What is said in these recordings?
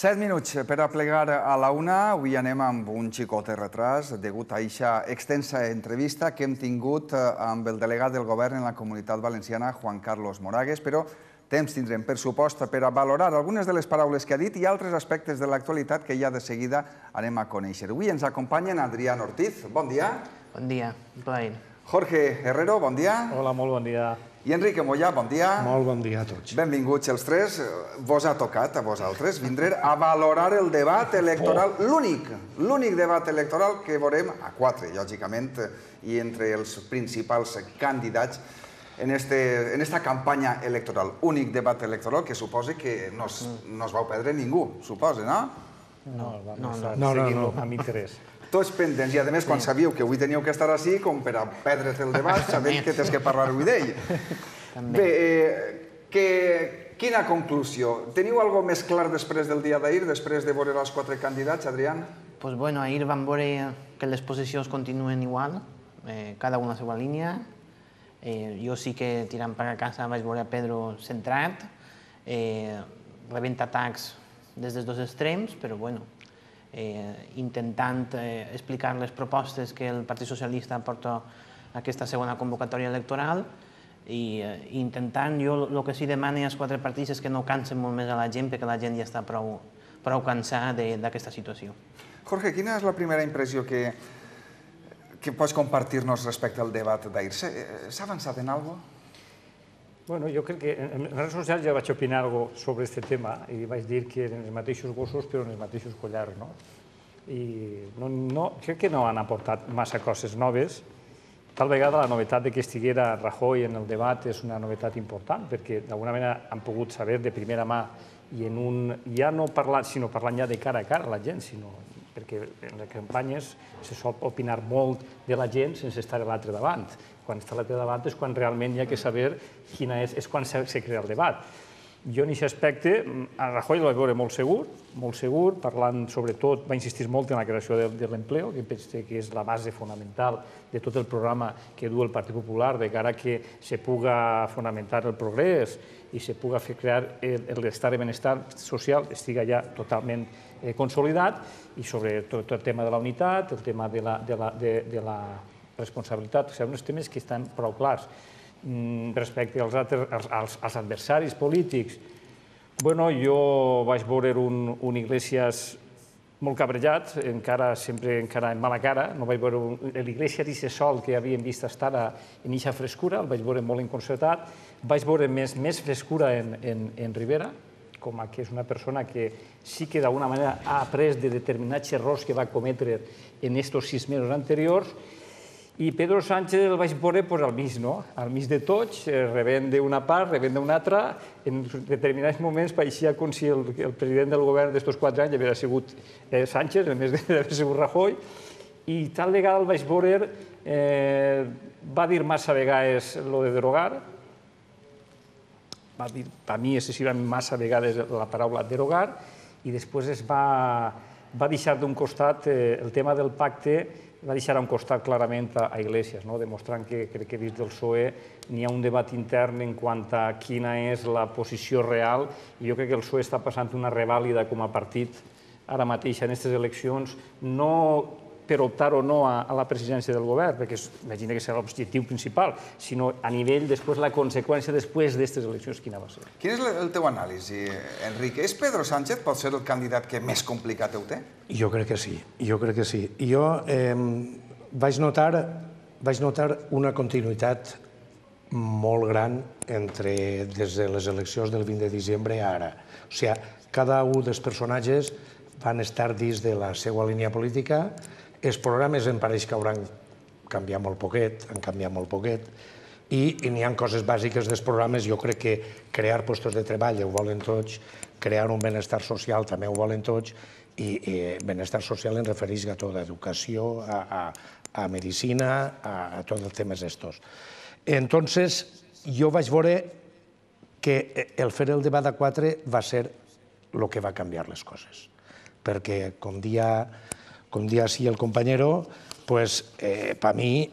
7 minuts per a plegar a la una. Avui anem amb un xicot de retras degut a aquesta extensa entrevista que hem tingut amb el delegat del govern en la Comunitat Valenciana, Juan Carlos Moragues, però temps tindrem, per supost, per a valorar algunes de les paraules que ha dit i altres aspectes de l'actualitat que ja de seguida anem a conèixer. Avui ens acompanyen Adrián Ortiz. Bon dia. Bon dia, un plaer. Jorge Herrero, bon dia. Hola, molt bon dia. I Enrique Moya, bon dia. Molt bon dia a tots. Benvinguts els tres. Vos ha tocat, a vosaltres, vindre a valorar el debat electoral, l'únic debat electoral que veurem a quatre, lògicament, i entre els principals candidats en esta campanya electoral. Únic debat electoral que suposa que no es vau perdre ningú, suposa, no? No, amb interès. Tots pendents, i a més, quan sabíeu que avui teníeu que estar així, com per a perdre't el debat, sabent que tens que parlar avui d'ell. Bé, quina conclusió? Teniu alguna cosa més clar després del dia d'ahir, després de veure els quatre candidats, Adrián? Pues bueno, ahir vam veure que les posicions continuen igual, cada una a la seva línia. Jo sí que, tirant per a casa, vaig veure a Pedro centrat, rebent atacs des dels dos extrems, però bueno, intentant explicar les propostes que el Partit Socialista porta a aquesta segona convocatòria electoral i intentant, jo el que sí demano als quatre partits és que no cansen molt més a la gent perquè la gent ja està prou cansada d'aquesta situació. Jorge, quina és la primera impressió que pots compartir-nos respecte al debat d'ahir? S'ha avançat en alguna cosa? Bueno, jo crec que en les redes socials ja vaig opinar alguna cosa sobre aquest tema i vaig dir que eren els mateixos gossos però en els mateixos collars, no? I crec que no han aportat massa coses noves. Tal vegada la novetat que estiguera Rajoy en el debat és una novetat important perquè d'alguna manera han pogut saber de primera mà i ja no parlant, sinó parlant ja de cara a cara a la gent, perquè en les campanyes se sol opinar molt de la gent sense estar a l'altre davant. Quan està a l'altre davant és quan realment hi ha que saber quina és quan se crea el debat. Jo en aquest aspecte, a Rajoy el vaig veure molt segur, parlant sobretot, va insistir molt en la creació de l'empleo, que penso que és la base fonamental de tot el programa que du el Partit Popular de cara que se puga fonamentar el progrés i se puga fer crear l'estat de benestar social estiga ja totalment consolidat i sobre tot el tema de la unitat, el tema de la responsabilitat, són uns temes que estan prou clars. Respecte als adversaris polítics, jo vaig veure un Iglesias molt cabrejat, sempre encara en mala cara, no vaig veure l'Iglesias i sol que havíem vist estar en eixa frescura, el vaig veure molt enconcertat, vaig veure més frescura en Rivera, com que és una persona que sí que d'alguna manera ha après de determinats errors que va cometre en aquests 6 mesos anteriors. I Pedro Sánchez el vaig veure al mig, no? Al mig de tots, rebent d'una part, rebent d'una altra. En determinats moments pareixia com si el president del govern d'estos 4 anys havia sigut Sánchez, en més d'haver sigut Rajoy. I tal vegada el vaig veure, va dir massa vegades lo de derogar, va dir, per mi, excessivament massa vegades la paraula derogar, i després es va deixar d'un costat el tema del pacte, va deixar a un costat clarament a Iglesias, demostrant que crec que dins del PSOE n'hi ha un debat intern en quant a quina és la posició real i jo crec que el PSOE està passant una revàlida com a partit ara mateix en aquestes eleccions, no per optar o no a la presidència del govern, perquè imagina que serà l'objectiu principal, sinó a nivell, després, la conseqüència després d'aquestes eleccions, quina va ser. Quin és el teu anàlisi, Enrique? És Pedro Sánchez pot ser el candidat que més complicat ho té? Jo crec que sí, jo vaig notar una continuïtat molt gran des de les eleccions del 20 de desembre a ara. O sigui, cada un dels personatges van estar dins de la seva línia política. Els programes em pareix que hauran canviat molt poquet, i n'hi ha coses bàsiques dels programes. Jo crec que crear llocs de treball ho volen tots, crear un benestar social també ho volen tots, i benestar social em refereix a tot, a educació, a medicina, a tots els temes estos. Entonces, jo vaig veure que el fer el debat a 4 va ser el que va canviar les coses, perquè, com dia sí el compañero, pues per mi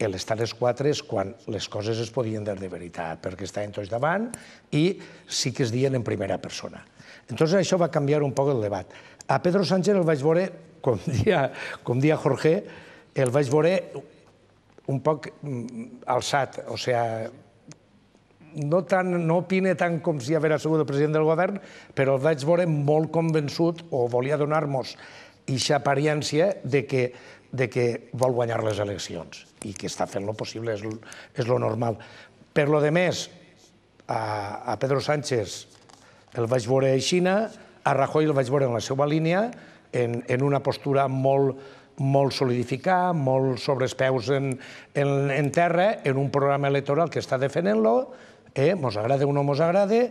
l'estar als 4 és quan les coses es podien dir de veritat, perquè estaven tots davant i sí que es diuen en primera persona. Entonces això va canviar un poc el debat. A Pedro Sánchez el vaig veure, com dia Jorge, el vaig veure un poc alçat, o sigui, no opine tant com si hagués sigut el president del govern, però el vaig veure molt convençut o volia donar-nos aquesta apariència de que vol guanyar les eleccions i que està fent el possible, és el normal. Per lo de més, a Pedro Sánchez el vaig veure a Xina, a Rajoy el vaig veure en la seva línia, en una postura molt solidificada, molt sobre els peus en terra, en un programa electoral que està defendent-lo, mos agrada o no mos agrada.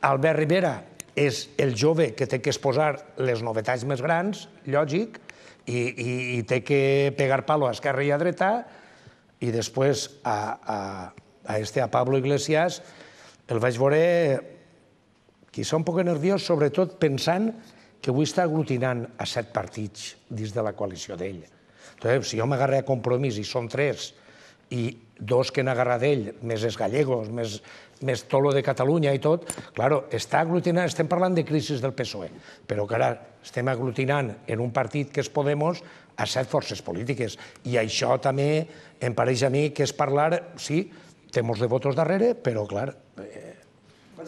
Albert Rivera és el jove que té que exposar les novetats més grans, lògic, i té que pegar palo a esquerra i a dreta, i després a Pablo Iglesias el vaig veure quizá un poc nerviós, sobretot pensant que avui està aglutinant a 7 partits dins de la coalició d'ell. Si jo m'agarré a Compromís i són 3, i 2 que n'agarra d'ell, més els gallegos, més tot lo de Catalunya i tot, clar, està aglutinant, estem parlant de crisi del PSOE, però clar, estem aglutinant en un partit que és Podemos a 7 forces polítiques, i això també em pareix a mi que és parlar, sí, té molts de votos darrere, però clar,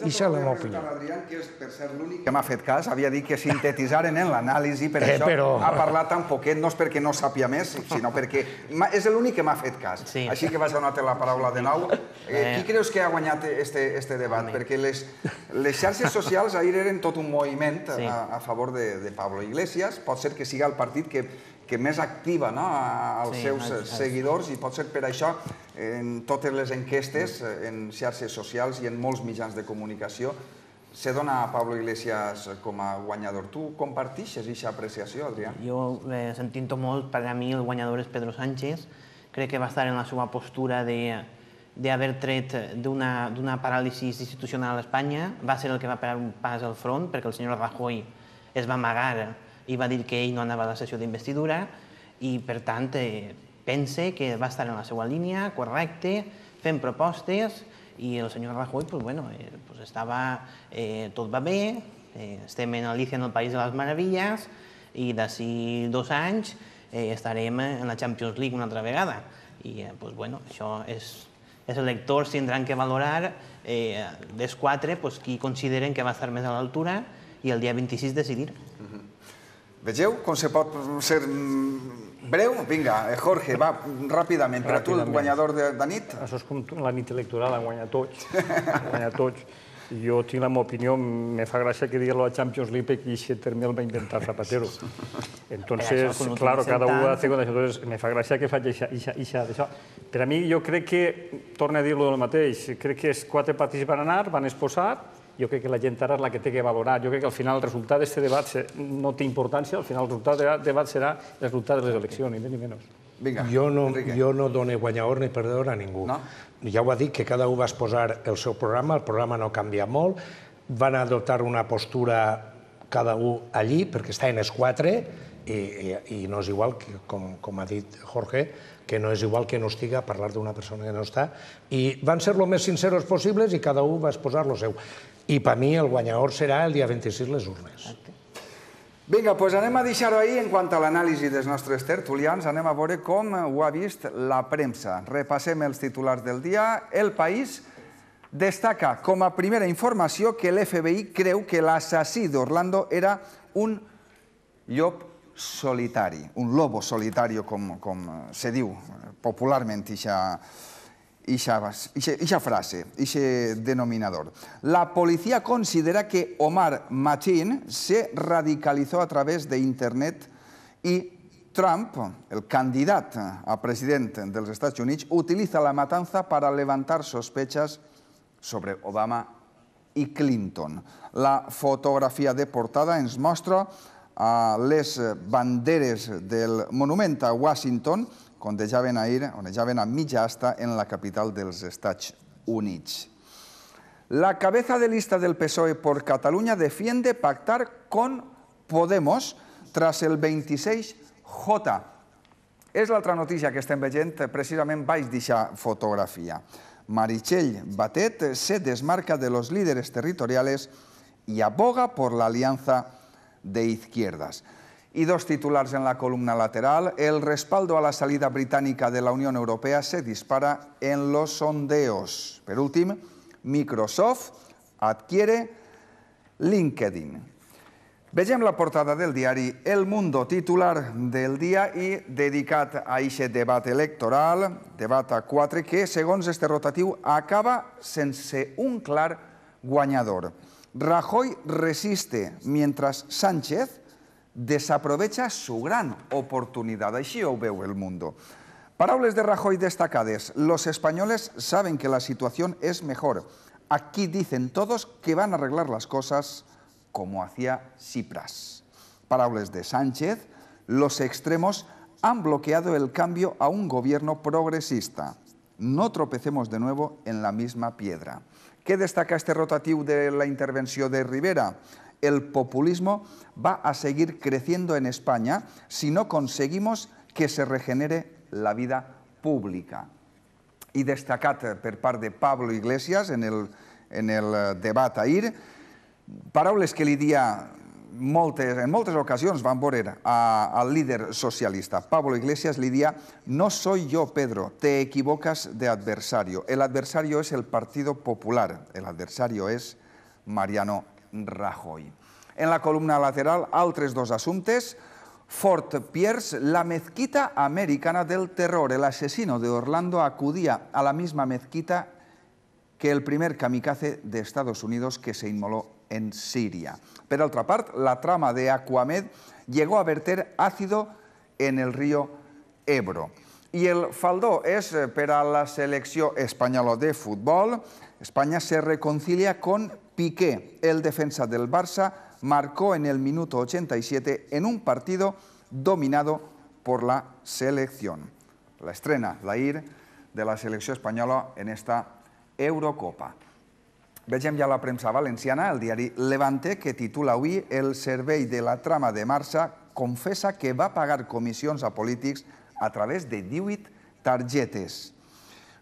ixa la meva opinió. Adrián, que és, per ser l'únic que m'ha fet cas, havia dit que sintetitzaren en l'anàlisi, per això ha parlat tan poquet, no és perquè no sàpia més, sinó perquè és l'únic que m'ha fet cas. Així que vaig donar-te la paraula de nou. Qui creus que ha guanyat este debat? Perquè les xarxes socials ahir eren tot un moviment a favor de Pablo Iglesias. Pot ser que siga el partit que més activa als seus seguidors, i pot ser per això en totes les enquestes, en xarxes socials i en molts mitjans de comunicació se dona a Pablo Iglesias com a guanyador. Tu compartixes aquesta apreciació, Adrià? Jo sentint-ho molt, per a mi el guanyador és Pedro Sánchez. Crec que va estar en la seva postura d'haver tret d'una paràlisi institucional a Espanya. Va ser el que va parar un pas al front, perquè el senyor Rajoy es va amagar i va dir que ell no anava a la sessió d'investidura, i per tant pense que va estar en la seva línia, correcte, fent propostes, i el senyor Rajoy, estava, tot va bé, estem en Alicia en el País de les Meravilles, i d'ací 2 anys estarem en la Champions League una altra vegada. I això els electors tindran que valorar dels 4 qui consideren que va estar més a l'altura, i el dia 26 decidir. Vegeu com se pot ser breu? Vinga, Jorge, va, ràpidament. Per a tu, el guanyador de nit? Això és com la nit electoral, han guanyat tots. Jo tinc la meva opinió, me fa gràcia que digui la Champions League, perquè aquest terme el va inventar Zapatero. Entonces, claro, cada un hace con eso. Entonces, me fa gràcia que faci això. Per a mi, jo crec que, torno a dir-lo del mateix, crec que els 4 partits van anar, van exposar. Jo crec que la gent ara és la que té que valorar. Jo crec que al final el resultat d'aquest debat no té importància, al final el resultat del debat serà el resultat de les eleccions, ni més ni menys. Jo no dono guanyador ni perdedor a ningú. Ja ho ha dit, que cada un va exposar el seu programa, el programa no canvia molt, van adoptar una postura cada un allí, perquè està en els 4, i no és igual, com ha dit Jorge, que no és igual que no estigui a parlar d'una persona que no està, i van ser el més sinceros possibles i cada un va exposar el seu. I per mi el guanyador serà el dia 26 les urnes. Vinga, doncs anem a deixar-ho ahir en quant a l'anàlisi dels nostres tertulians. Anem a veure com ho ha vist la premsa. Repassem els titulars del dia. El País destaca com a primera informació que l'FBI creu que l'assassí d'Orlando era un llop solitari, un lobo solitario, com se diu popularment ixa frase, ixe denominador. La policía considera que Omar Mateen se radicalizó a través de Internet y Trump, el candidat a president dels Estats Units, utiliza la matanza para levantar sospechas sobre Obama i Clinton. La fotografia de portada ens mostra les banderes del monument a Washington, que ondejaven a mitja asta en la capital dels Estats Units. La cabeza de lista del PSOE por Cataluña defiende pactar con Podemos tras el 26J. És l'altra notícia que estem veient precisament baix d'aquesta fotografia. Meritxell Batet se desmarca de los líderes territoriales y aboga por la alianza de izquierdas. Y dos titulares en la columna lateral. El respaldo a la salida británica de la Unión Europea se dispara en los sondeos. Per últim, Microsoft adquiere LinkedIn. Vegem la portada del diari El Mundo, titular del dia i dedicat a aquest debat electoral, debat a 4, que, segons este rotatiu, acaba sense un clar guanyador. Rajoy resiste mientras Sánchez desaprovecha su gran oportunidad. Així ho veu El Mundo. Paraules de Rajoy destacades. Los españoles saben que la situación es mejor. Aquí dicen todos que van a arreglar las cosas como hacía Tsipras. Paraules de Sánchez. Los extremos han bloqueado el cambio a un gobierno progresista. No tropecemos de nuevo en la misma piedra. ¿Qué destaca este rotativo de la intervención de Rivera? El populismo va a seguir creciendo en España si no conseguimos que se regenere la vida pública. I destacat per part de Pablo Iglesias en el debat ahir, paraules que li dia en moltes ocasions van veure al líder socialista. Pablo Iglesias li dia: no soy yo, Pedro, te equivocas de adversario. El adversario es el Partido Popular, el adversario es Mariano Rajoy. En la columna lateral, altres dos assumptes. Fort Pierce, la mezquita americana del terror. El asesino de Orlando acudía a la misma mezquita que el primer kamikaze de Estados Unidos que se inmoló en Siria. Per altra part, la trama de Aquamed llegó a verter ácido en el río Ebro. I el faldó és per a la selecció espanyola de futbol. España se reconcilia con Piqué. El defensa del Barça marcó en el minuto 87 en un partido dominado por la selección. La estrena, l'ahir, de la selecció espanyola en esta Eurocopa. Vegem ja la premsa valenciana, el diari Levante, que titula avui: el servei de la trama de Marça confessa que va pagar comissions a polítics a través de 18 tarjetes.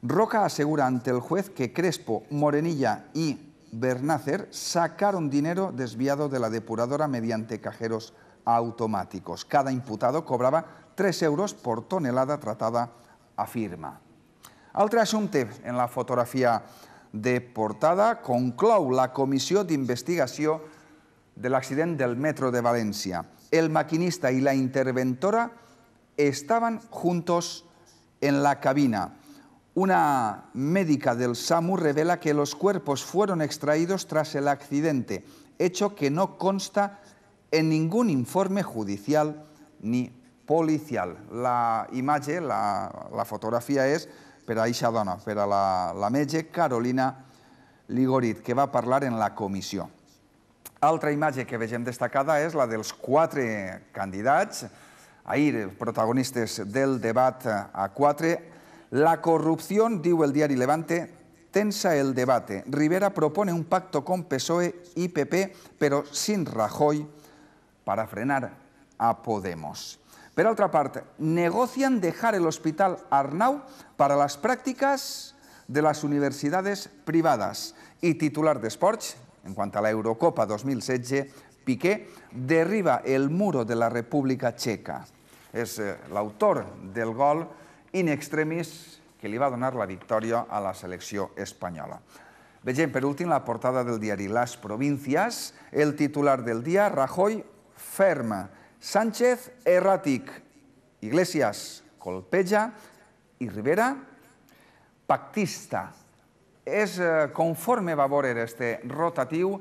Roca asegura ante el juez que Crespo, Morenilla y Bernácer sacaron dinero desviado de la depuradora mediante cajeros automáticos. Cada imputado cobraba 3 euros por tonelada tratada, afirma. Altre assumpte en la fotografia de portada: conclou la comissió d'investigació de l'accident del metro de València. El maquinista y la interventora estaban juntos en la cabina. Una médica del SAMU revela que los cuerpos fueron extraídos tras el accidente, hecho que no consta en ningún informe judicial ni policial. La imatge, la fotografia és per a aquesta dona, per a la metge Carolina Ligorit, que va parlar en la comissió. Altra imatge que vegem destacada és la dels 4 candidats, ahir protagonistes del debat a 4. La corrupción, diu el diari Levante, tensa el debate. Rivera propone un pacto con PSOE y PP, pero sin Rajoy, para frenar a Podemos. Per altra part, negocian dejar el Hospital Arnau para las prácticas de las universidades privadas. Y titular d'Esports, en quant a la Eurocopa 2016, Piqué derriba el muro de la República Checa. És l'autor del gol in extremis que li va donar la victòria a la selecció espanyola. Vegem per últim la portada del diari Las Provincias. El titular del dia: Rajoy ferma, Sánchez erràtic, Iglesias colpeja i Rivera pactista. És conforme va veure este rotatiu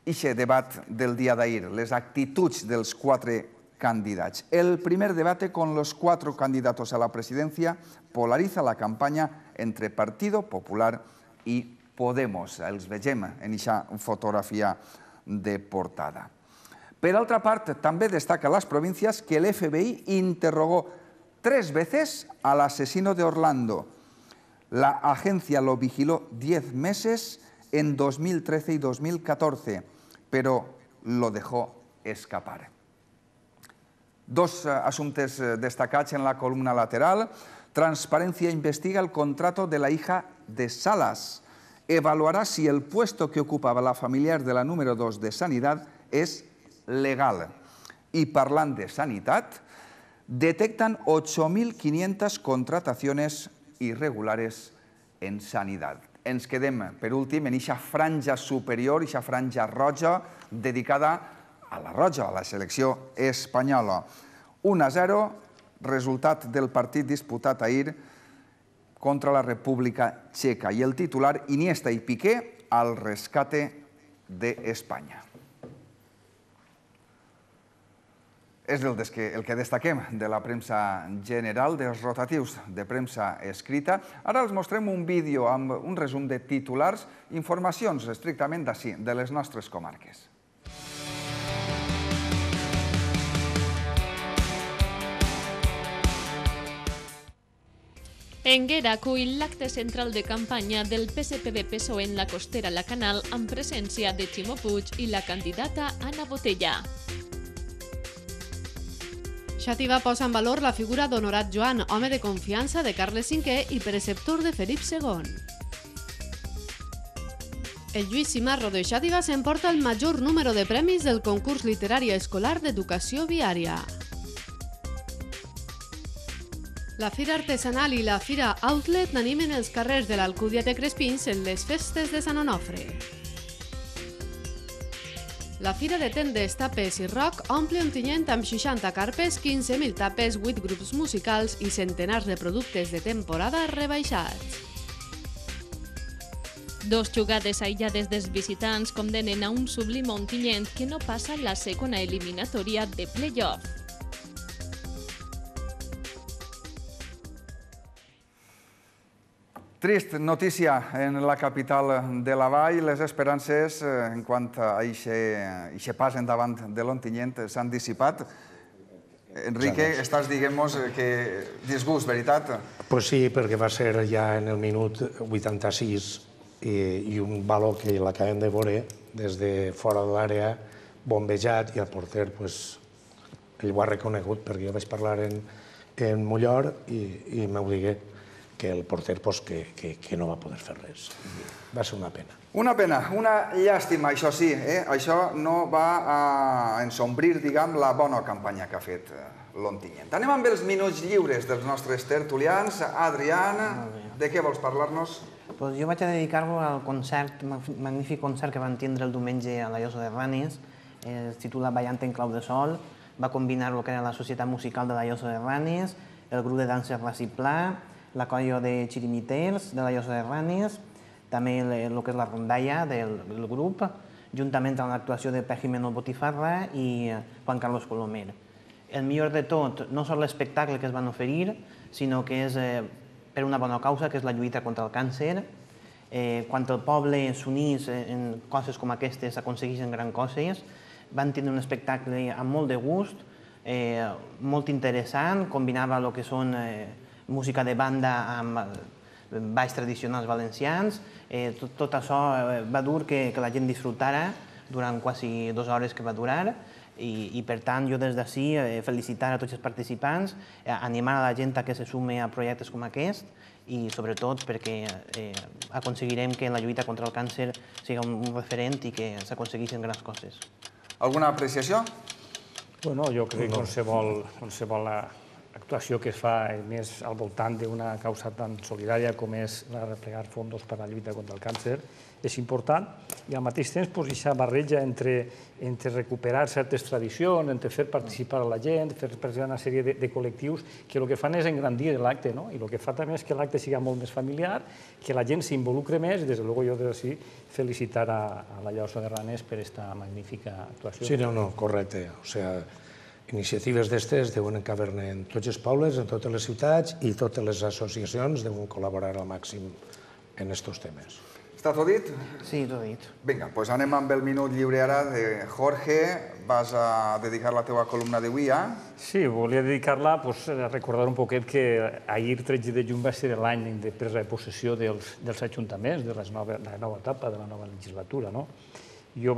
ixe debat del dia d'ahir, les actituds dels 4 candidats. El primer debate con los 4 candidatos a la presidencia polariza la campaña entre Partido Popular y Podemos. Els vegem en aquesta fotografia de portada. Per altra part, també destaca Las Provincias que el FBI interrogó 3 veces al asesino de Orlando. La agencia lo vigiló 10 meses en 2013 y 2014, pero lo dejó escapar. Dos asuntos destacats en la columna lateral. Transparencia investiga el contrato de la hija de Salas. Evaluará si el puesto que ocupaba la familiar de la número 2 de Sanidad es legal. Y parlant de sanitat, detectan 8.500 contrataciones irregulares en sanitat. Ens quedem, per últim, en aquesta franja superior, aquesta franja roja, dedicada a la roja, a la selecció espanyola. 1-0, resultat del partit disputat ahir contra la República Checa. I el titular, Iniesta i Piqué al rescate de España. És el que destaquem de la premsa general, dels rotatius de premsa escrita. Ara els mostrem un vídeo amb un resum de titulars, informacions estrictament d'ací, de les nostres comarques. Enguera acull l'acte central de campanya del PSPB-PSOE en la costera La Canal amb presència de Ximo Puig i la candidata Anna Botella. Xàtiva posa en valor la figura d'Honorat Joan, home de confiança de Carles V i preceptor de Felip II. El Lluís Cimarro de Xàtiva s'emporta el major número de premis del concurs literari escolar d'educació viària. La Fira Artesanal i la Fira Outlet n'animen els carrers de l'Alcúdia de Crespins en les festes de Sant Onofre. La Fira de Tendes, Tapes i Rock omple Ontinyent amb 60 carpes, 15.000 tapes, 8 grups musicals i centenars de productes de temporada rebaixats. Dos jugades aïllades dels visitants condemnen a un sublim Ontinyent que no passa la segona eliminatòria de play-off. Trist notícia en la capital de la Vall. Les esperances en quant a aquest pas endavant de l'Ontinyent s'han dissipat. Enrique, estàs dient-nos que disgust, veritat? Pues sí, perquè va ser ja en el minut 86 i un valor que l'acabem de veure des de fora de l'àrea, bombejat, i el porter ell ho ha reconegut perquè jo vaig parlar en Mollor i m'ho digué que el porter que no va poder fer res. Va ser una pena. Una pena, una llàstima, això sí. Això no va a ensombrir, diguem, la bona campanya que ha fet l'Ontinyent. Anem amb els minuts lliures dels nostres tertulians. Adrià, de què vols parlar-nos? Jo vaig a dedicar-lo al concert, magnífic concert que van tindre el diumenge a la Llosa de Ranes. Es titula Ballant en clau de sol. Va combinar el que era la Societat Musical de la Llosa de Ranes, el grup de danses Raciplà, la colla de xirimiters de la Llosa de Ranes, també el que és la rondalla del grup, juntament amb l'actuació de Pejimeno Botifarra i Juan Carlos Colomer. El millor de tot no és l'espectacle que es van oferir, sinó que és per una bona causa, que és la lluita contra el càncer. Quan el poble s'unís en coses com aquestes, aconsegueixen grans coses. Van tenir un espectacle amb molt de gust, molt interessant, combinava el que són música de banda amb balls tradicionals valencians. Tot això va dur que la gent disfrutara durant quasi 2 hores que va durar i per tant jo des d'ací felicitar a tots els participants, animar a la gent a que se sume a projectes com aquest i sobretot perquè aconseguirem que la lluita contra el càncer sigui un referent i que s'aconsegueixin grans coses. Alguna apreciació? Bueno, jo crec que qualsevol actuació que es fa més al voltant d'una causa tan solidària com és replegar fons per a la lluita contra el càncer és important i al mateix temps aquesta barreja entre recuperar certes tradicions, entre fer participar a la gent, fer participar una sèrie de col·lectius que el que fan és engrandir l'acte i el que fa també és que l'acte sigui molt més familiar, que la gent s'involucre més i des de luego jo des d'ací felicitar a la Llosa de Ranes per aquesta magnífica actuació. Sí, no, correcte. O sigui, iniciatives d'estes deuen caber-ne en tots els pobles, en totes les ciutats i totes les associacions deuen col·laborar al màxim en aquests temes. Està tot dit? Sí, tot dit. Vinga, doncs anem amb el minut lliure ara de Jorge. Vas a dedicar la teva columna d'avui a... Sí, volia dedicar-la a recordar un poquet que ahir, 13 de juny, va ser l'any de presa de possessió dels ajuntaments, de la nova etapa, de la nova legislatura. Jo,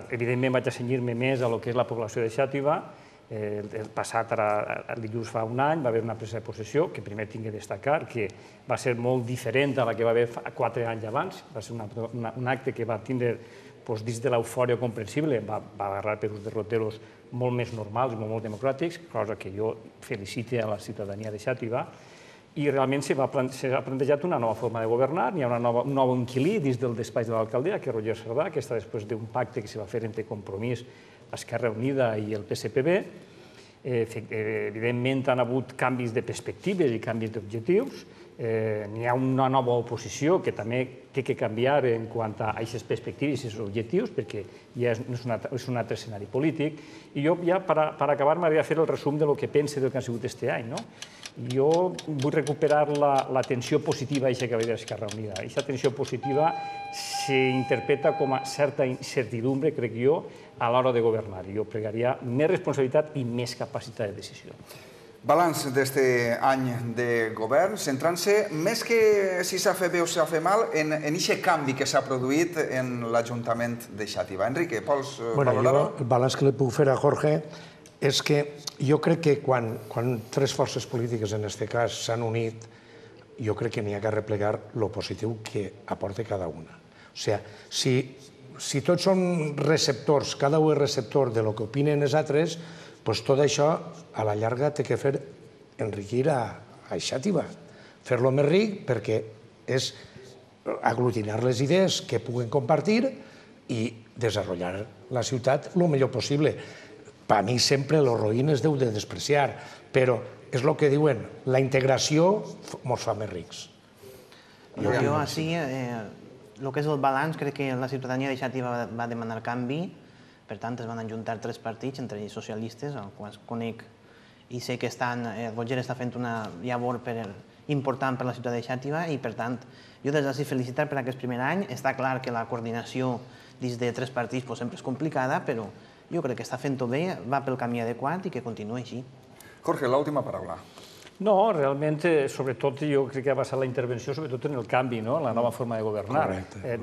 evidentment, vaig a cenyir-me més a lo que és la població de Xàtiva El passat, ara dilluns fa un any, va haver una presa de possessió, que primer tinc que destacar que va ser molt diferent a la que va haver 4 anys abans. Va ser un acte que va tindre, dins de l'eufòria comprensible, va agarrar per uns derroteros molt més normals, molt democràtics, cosa que jo felicite a la ciutadania de Xàtiva, i realment s'ha plantejat una nova forma de governar, hi ha un nou inquilí dins del despatx de l'alcaldia, que és Roger Cerdà, que està després d'un pacte que se va fer entre Compromís, Esquerra Unida i el PSPB. Evidentment han hagut canvis de perspectives i canvis d'objectius. N'hi ha una nova oposició que també té que canviar en quant a aquestes perspectives i aquests objectius, perquè ja és un altre escenari polític. I jo, ja per acabar, m'agradaria fer el resum del que pense del que ha sigut aquest any. Jo vull recuperar la tensió positiva que va haver d'Esquerra Unida. Aquesta tensió positiva s'interpreta com a certa incertidumbre, crec jo, a l'hora de governar. Jo pregaria més responsabilitat i més capacitat de decisió. Balanç d'este any de govern, centrant-se més que si s'ha fet bé o s'ha fet mal en aquest canvi que s'ha produït en l'Ajuntament de Xàtiva. Enrique, vols valorar-ho? El balanç que li puc fer a Jorge és que jo crec que quan 3 forces polítiques, en aquest cas, s'han unit, jo crec que n'hi ha que replegar el positiu que aporta cada una. O sigui, si tots són receptors, cada un és receptor de lo que opinen els altres, doncs tot això, a la llarga, té que fer enriquir a Xàtiva. Fer-lo més ric perquè és aglutinar les idees que puguen compartir i desenvolupar la ciutat el millor possible. Per mi sempre el roïn es deu de despreciar, però és el que diuen, la integració ens fa més rics. Jo, així, el que és el balanç, crec que la ciutadania de Xàtiva va demanar canvi. Per tant, es van ajuntar 3 partits, entre ells socialistes, els quals conec i sé que Roger està fent una llavor important per la ciutat de Xàtiva i, per tant, jo des d'ací felicitar per aquest primer any. Està clar que la coordinació dins de 3 partits sempre és complicada, però jo crec que està fent-ho bé, va pel camí adequat i que continuï així. Jorge, l'última paraula. No, realment, sobretot, jo crec que ha passat la intervenció sobretot en el canvi, la nova forma de governar.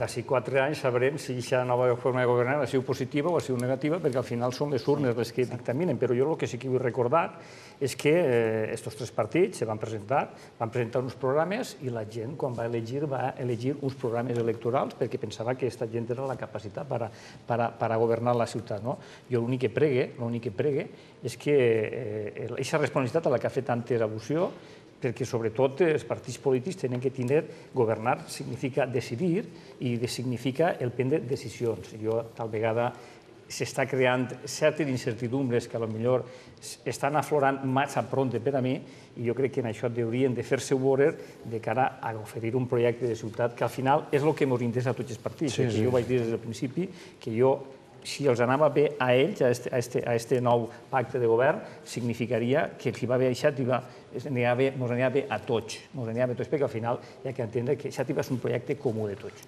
D'ací 4 anys sabrem si aquesta nova forma de governar ha sigut positiva o ha sigut negativa, perquè al final són les urnes les que dictaminen. Però jo el que sí que vull recordar és que aquests 3 partits van presentar uns programes i la gent, quan va elegir uns programes electorals perquè pensava que aquesta gent era la capacitat per a governar la ciutat. Jo l'únic que pregue és que aquesta responsabilitat a la que ha fet antes al·lusió, perquè sobretot els partits polítics tenen que tindre, governar significa decidir i significa el prendre decisions. Tal vegada s'està creant certes incertidumbres que potser estan aflorant massa prompte per a mi i jo crec que en això haurien de fer-se veure de cara a oferir un projecte de ciutat que al final és el que ens interessa a tots els partits. Jo vaig dir des del principi que si els anava bé a ells, a aquest nou pacte de govern, significaria que si va bé a Xàtiva ens anirà bé a tots. Ens anirà bé a tots, perquè al final hi ha que entendre que Xàtiva és un projecte comú de tots.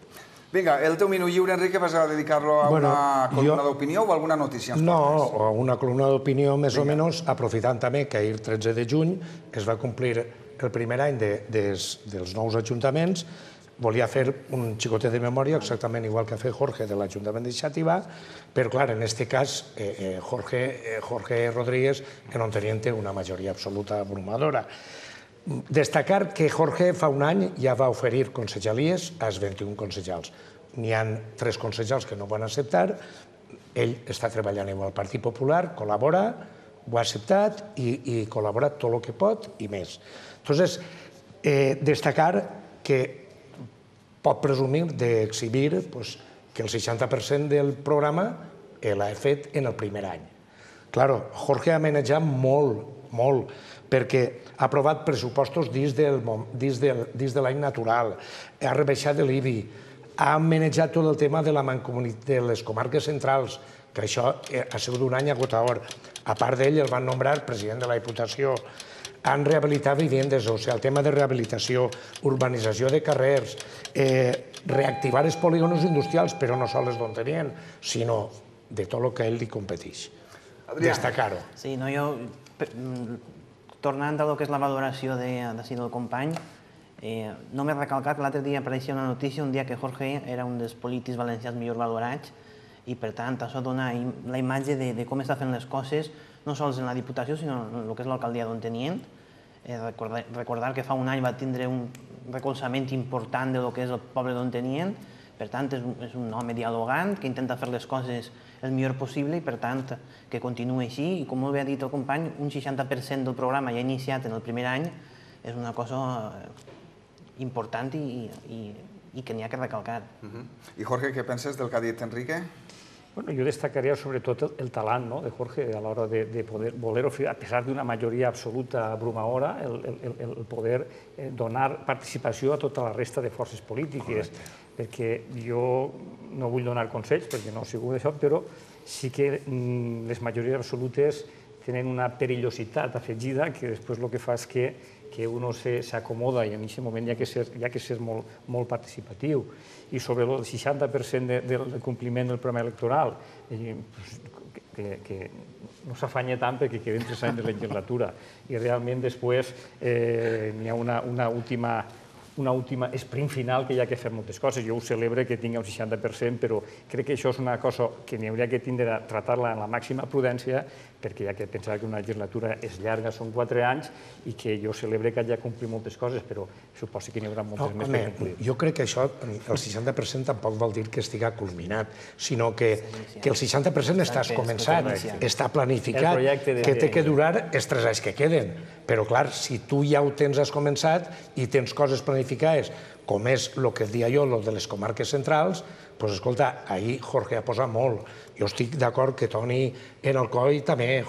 Vinga, el teu minut lliure, Enrique, vas a dedicar-lo a una columna d'opinió o a alguna notícia? No, a una columna d'opinió més o menys, aprofitant també que ahir 13 de juny es va complir el primer any dels nous ajuntaments. Volia fer un xicotet de memòria, exactament igual que ha fet Jorge de l'Ajuntament de Xàtiva, però, clar, en aquest cas, Jorge Rodríguez, que no tenien una majoria absoluta abrumadora. Destacar que Jorge fa un any ja va oferir consellalies als 21 consellals. N'hi ha 3 consellals que no ho van acceptar, ell està treballant amb el Partit Popular, col·labora, ho ha acceptat i col·labora tot el que pot i més. Entonces, destacar que pot presumir d'exhibir que el 60% del programa l'ha fet en el primer any. Claro, Jorge ha manejat molt, perquè ha aprovat pressupostos dins de l'any natural, ha rebaixat l'IBI, ha manejat tot el tema de les comarques centrals, que això ha sigut un any agotador. A part d'ell, el van nombrar president de la Diputació. Han rehabilitat vivendes, o sigui, el tema de rehabilitació, urbanització de carrers, reactivar els polígons industrials, però no sols d'on tenien, sinó de tot el que a ell li competeix. Destacar-ho. Sí, jo, tornant a lo que és la valoració del company, només recalcar que l'altre dia apareixia una notícia, un dia que Jorge era un dels polítics valencians millor valorats, i per tant això dona la imatge de com està fent les coses, no sols en la Diputació, sinó en el que és l'alcaldia d'Ontinyent. Recordar que fa un any va tindre un recolzament important del que és el poble d'Ontinyent. Per tant, és un home dialogant que intenta fer les coses el millor possible i, per tant, que continuï així. I com molt bé ha dit el company, un 60% del programa ja iniciat en el primer any és una cosa important i que n'hi ha que recalcar. I Jorge, què penses del que ha dit Enrique? Bueno, yo destacaría sobre todo el talán de Jorge a la hora de poder ofrecer, a pesar de una mayoría absoluta abrumadora, el poder donar participació a tota la resta de forces polítiques. Perquè jo no vull donar consells, perquè no he sigut d'això, però sí que les majories absolutes tenen una perillositat afegida que després el que fa és que uno s'acomoda i en aquest moment hi ha que ser molt participatiu. I sobre el 60% del compliment del programa electoral, que no s'afanya tant perquè queden 3 anys de legislatura i realment després n'hi ha una última sprint final que hi ha que fer moltes coses. Jo ho celebre que tingui un 60%, però crec que això és una cosa que n'hi hauria que tindre a tratar-la amb la màxima prudència, perquè hi ha que pensar que una legislatura és llarga, són 4 anys, i que jo celebre que hagi de complir moltes coses, però suposo que n'hi haurà moltes més per complir. Jo crec que això, el 60% tampoc vol dir que estigui culminat, sinó que el 60% està començat, està planificat, que té que durar els 3 anys que queden. Però, clar, si tu ja ho has començat i tens coses planificades, com és el que deia jo, el de les comarques centrals, doncs, escolta, ahir Jorge ha posat molt. Jo estic d'acord que Toni en el COI també,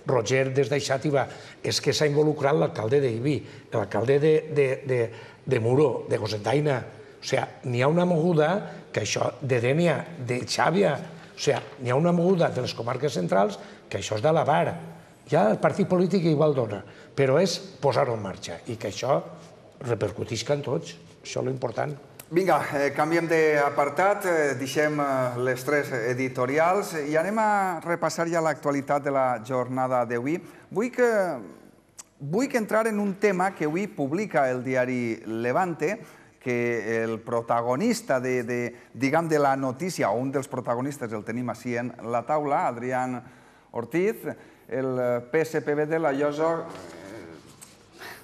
Roger des d'Aixàtiva, és que s'ha involucrat l'alcalde d'Ibi, l'alcalde de Muro, de Cocentaina. O sigui, n'hi ha una moguda que això, de Dénia, de Xàbia, o sigui, n'hi ha una moguda de les comarques centrals que això és d'alabar. Ja el partit polític igual dona, però és posar-ho en marxa i que això repercutisca en tots. Això és l'important. Vinga, canviem d'apartat, deixem les 3 editorials i anem a repassar ja l'actualitat de la jornada d'avui. Vull entrar en un tema que avui publica el diari Levante, que el protagonista de la notícia, o un dels protagonistes el tenim així en la taula, Adrián Ortiz, el PSPB de la Llosa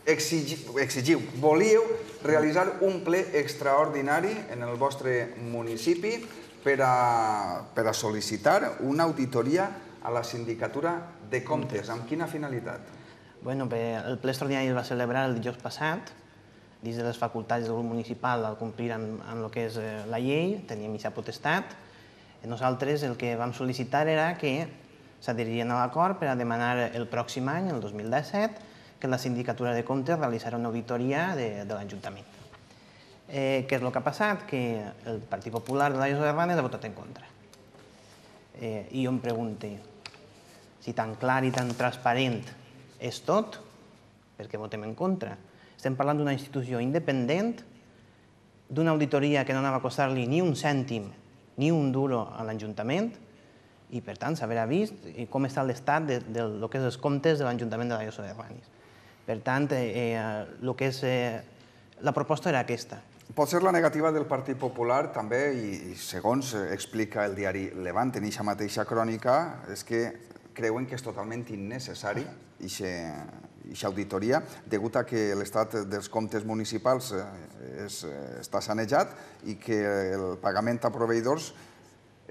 exigiu, volíeu realitzar un ple extraordinari en el vostre municipi per a sol·licitar una auditoria a la Sindicatura de Comptes. Amb quina finalitat? El ple extraordinari es va celebrar el dijous passat, dins de les facultats del grup municipal al complir amb el que és la llei, teníem aquesta potestat. Nosaltres el que vam sol·licitar era que s'adherien a l'acord per a demanar el pròxim any, el 2017, que la Sindicatura de Comptes realitzarà una auditoria de l'Ajuntament. Què és el que ha passat? Que el Partit Popular de la Llosa de Ranes ha votat en contra. I jo em pregunto, si tan clar i tan transparent és tot, per què votem en contra? Estem parlant d'una institució independent, d'una auditoria que no anava a costar-li ni un cèntim, ni un duro a l'Ajuntament, i per tant s'haurà vist com està l'estat del que és els comptes de l'Ajuntament de la Llosa de Ranes. Per tant, la proposta era aquesta. Pot ser la negativa del Partit Popular també, i segons explica el diari Levante en aquesta mateixa crònica, és que creuen que és totalment innecessari aquesta auditoria, degut a que l'estat dels comptes municipals està sanejat i que el pagament a proveïdors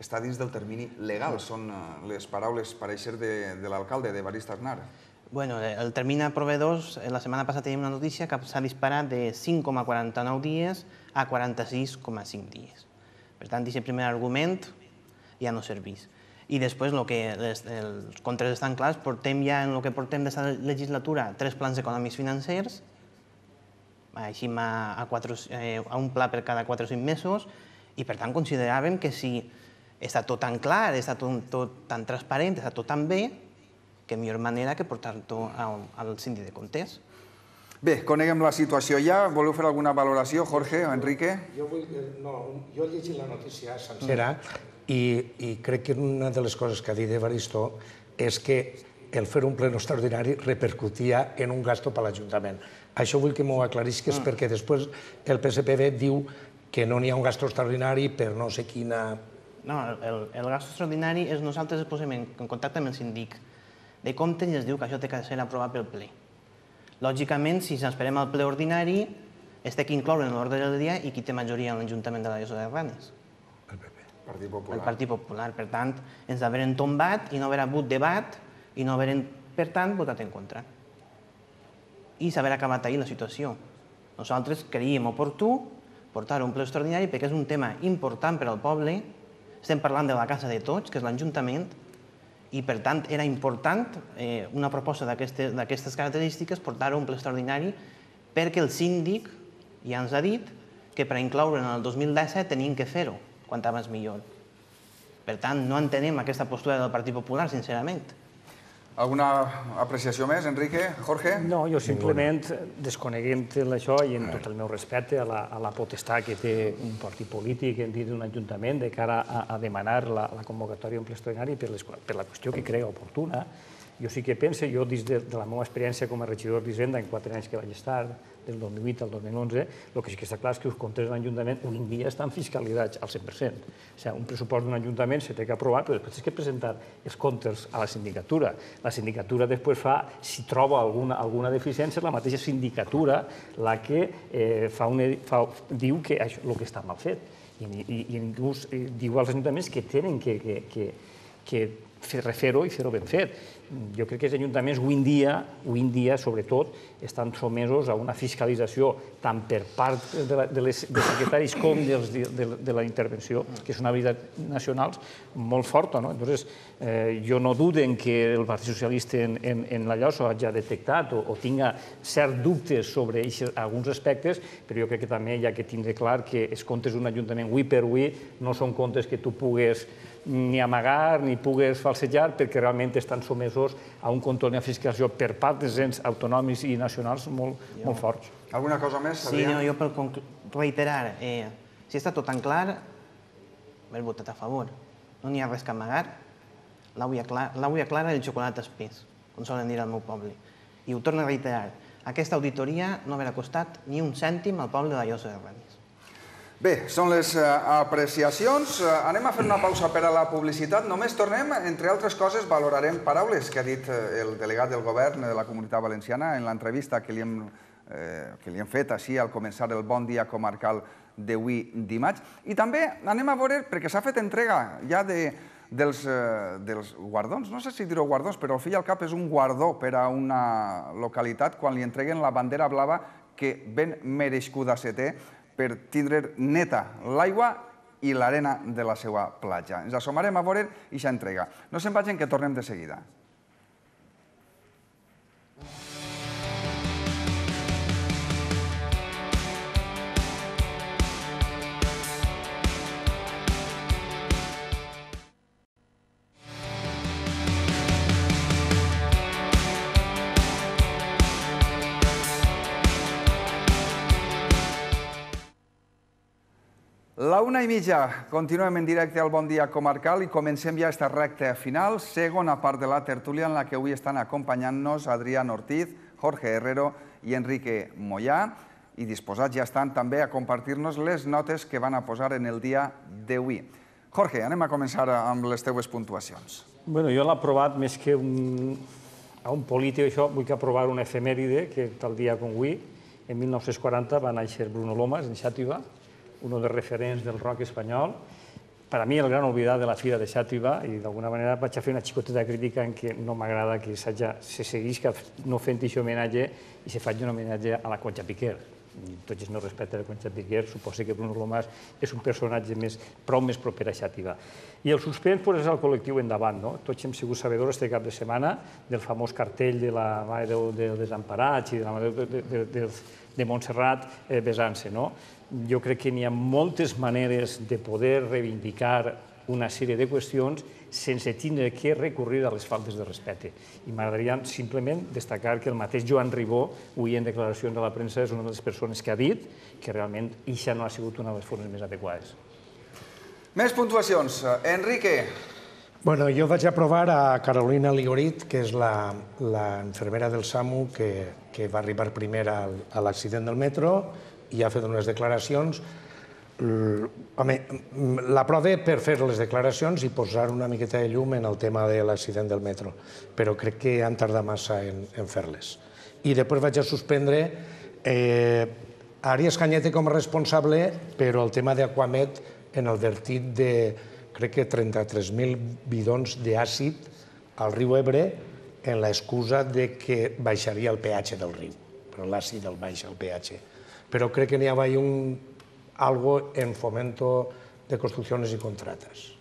està dins del termini legal. Són les paraules pareixer de l'alcalde, d'Evarist Aznar. El termini a proveïdors, la setmana passada teníem una notícia que s'ha disparat de 5,49 dies a 46,5 dies. Per tant, aquest primer argument ja no serveix. I després, els comptes estan clars, portem ja en el que portem d'aquesta legislatura 3 plans econòmics financers, així a un pla per cada 4 o 5 mesos, i per tant consideràvem que si està tot tan clar, està tot tan transparent, està tot tan bé, que millor manera que portar-ho al síndic de comptes. Bé, coneguem la situació ja. Voleu fer alguna valoració, Jorge o Enrique? Jo he llegit la notícia sencera i crec que una de les coses que ha dit Evaristo és que el fer un ple extraordinari repercutia en un gasto per l'Ajuntament. Això vull que m'ho aclarisques perquè després el PSPB diu que no n'hi ha un gasto extraordinari per no sé quina... No, el gasto extraordinari és nosaltres ens posem en contacte amb el síndic de comptes i es diu que això té que ser aprovat pel ple. Lògicament, si ens esperem al ple ordinari, es té que incloure en l'ordre del dia i qui té majoria en l'Ajuntament de la Llosa de Ranes. Partit Popular. El Partit Popular. Per tant, ens haurem tombat i no haurà hagut debat i no haurem, per tant, votat en contra. I s'haurà acabat ahir la situació. Nosaltres creiem oportú portar un ple extraordinari perquè és un tema important per al poble. Estem parlant de la casa de tots, que és l'Ajuntament, i per tant era important una proposta d'aquestes característiques portar-ho a un ple extraordinari perquè el síndic ja ens ha dit que per incloure en el 2017 tenien que fer-ho, quan abans millor. Per tant, no entenem aquesta postura del Partit Popular, sincerament. Alguna apreciació més, Enrique? Jorge? No, jo simplement, desconeguent això i en tot el meu respecte a la potestat que té un partit polític en dit d'un ajuntament de cara a demanar la convocatòria d'un ple extraordinari per la qüestió que cregui oportuna, jo sí que penso, jo des de la meva experiència com a regidor d'Hisenda en 4 anys que vaig estar, del 2008 al 2011, el que sí que està clar és que els comptes de l'Ajuntament avui en dia estan fiscalitzats al 100%. O sigui, un pressupost d'un Ajuntament s'ha de aprovar, però després has de presentar els comptes a la sindicatura. La sindicatura després fa, si troba alguna deficiència, la mateixa sindicatura la que diu que el que està mal fet. I inclús diu als ajuntaments que tenen que refer-ho i fer-ho ben fet. Jo crec que els ajuntaments avui en dia, sobretot, estan somesos a una fiscalització tant per part dels secretaris com de la intervenció, que és una habilitat nacional molt forta. Llavors, jo no dudo que el Partit Socialista en la Llosa hagi detectat o tinga certs dubtes sobre alguns aspectes, però jo crec que també hi ha que tindre clar que els comptes d'un ajuntament avui per avui no són comptes que tu pugues ni amagar ni pugues falsejar perquè realment estan somesos a un control i una fiscalització per part dels ens autonòmics i nacionals molt forts. Alguna cosa més? Sí, jo per reiterar, si està tot tan clar, haver votat a favor. No n'hi ha res que amagar. L'aigua clara i el xocolat espès, com solen dir al meu poble. I ho torno a reiterar, aquesta auditoria no haurà costat ni un cèntim al poble de la Llosa de Ranes. Bé, són les apreciacions. Anem a fer una pausa per a la publicitat. Només tornem, entre altres coses, valorarem paraules que ha dit el delegat del govern de la Comunitat Valenciana en l'entrevista que li hem fet així al començar el Bon Dia Comarcal d'avui dimarts. I també anem a veure, perquè s'ha fet entrega ja dels guardons, no sé si dir-ho guardons, però al fi i al cap és un guardó per a una localitat quan li entreguen la bandera blava que ben merescuda se té per tindre neta l'aigua i l'arena de la seva platja. Ens assomarem a veure aquesta entrega. No se'n vagin, que tornem de seguida. La 1:30, continuem en directe al Bon Dia Comarcal i comencem ja aquesta recta final, segona part de la tertúlia en la que avui estan acompanyant-nos Adrián Ortiz, Jorge Herrero i Enrique Moyà, i disposats ja estan també a compartir-nos les notes que van a posar en el dia d'avui. Jorge, anem a començar amb les teues puntuacions. Bé, jo l'he aprovat més que a un polític, això, vull que aprovar una efemèride que tal dia com avui, en 1940 va néixer Bruno Lomas, en Xàtiva, un dels referents del rock espanyol. Per a mi, el gran oblidat de la Fira de Xàtiva, i d'alguna manera vaig a fer una xicoteta crítica en què no m'agrada que se seguís no fent aquest homenatge i se faci un homenatge a la Concha Piquer. Tots els meus respectes a la Concha Piquer, suposo que Bruno Lomas és un personatge prou més proper a Xàtiva. I el suspens és el col·lectiu Endavant. Tots hem sigut sabedors aquest cap de setmana del famós cartell de la Mare dels Desemparats i de la Mare de Montserrat besant-se. Jo crec que n'hi ha moltes maneres de poder reivindicar una sèrie de qüestions sense tindre que recurrir a les faltes de respecte. I m'agradaria simplement destacar que el mateix Joan Ribó, avui en declaracions a la premsa, és una de les persones que ha dit que realment això no ha sigut una de les formes més adequades. Més puntuacions. Enrique. Bueno, jo vaig aprovar a Carolina Ligorit, que és l'infermera del SAMU que va arribar primer a l'accident del metro i ha fet unes declaracions Home, la prova per fer les declaracions i posar una miqueta de llum en el tema de l'accident del metro, però crec que han tardat massa en fer-les. I després vaig a suspendre Arias Cañete com a responsable, però el tema d'Aquamed en el vertit de, crec que 33.000 bidons d'àcid al riu Ebre en l'excusa que baixaria el pH del riu, però l'àcid el baixa el pH. Però crec que n'hi havia algo en fomento de construcciones y contratas.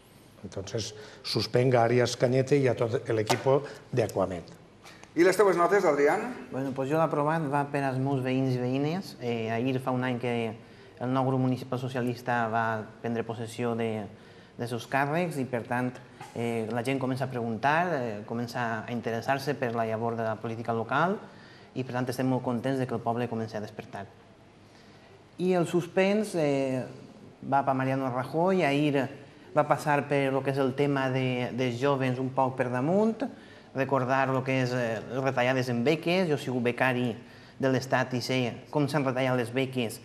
Entonces, suspenga a Arias Cañete y a tot l'equip d'Aquamed. I les teves notes, Adrián? Bueno, pues jo l'aprovat va per als meus veïns i veïnes. Ahir fa un any que el nou grup municipal socialista va prendre possessió de seus càrrecs i, per tant, la gent comença a preguntar, comença a interessar-se per la llavor de la política local i, per tant, estem molt contents que el poble comenci a despertar. I el suspens va per Mariano Rajoy, ahir va passar per el que és el tema dels jovens un poc per damunt, recordar el que és les retallades en beques. Jo he sigut becari de l'Estat i sé com s'han retallat les beques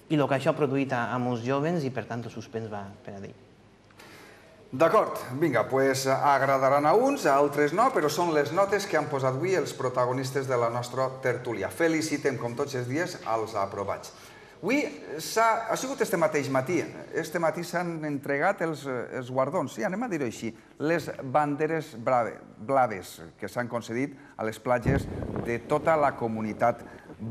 i el que això ha produït a molts jovens i, per tant, el suspens va per a ell. D'acord, vinga, doncs agradaran a uns, a altres no, però són les notes que han posat avui els protagonistes de la nostra tertúlia. Felicitem, com tots els dies, als aprovats. Avui ha sigut este mateix matí. Este matí s'han entregat els guardons, sí, anem a dir-ho així, les banderes blaves que s'han concedit a les platges de tota la comunitat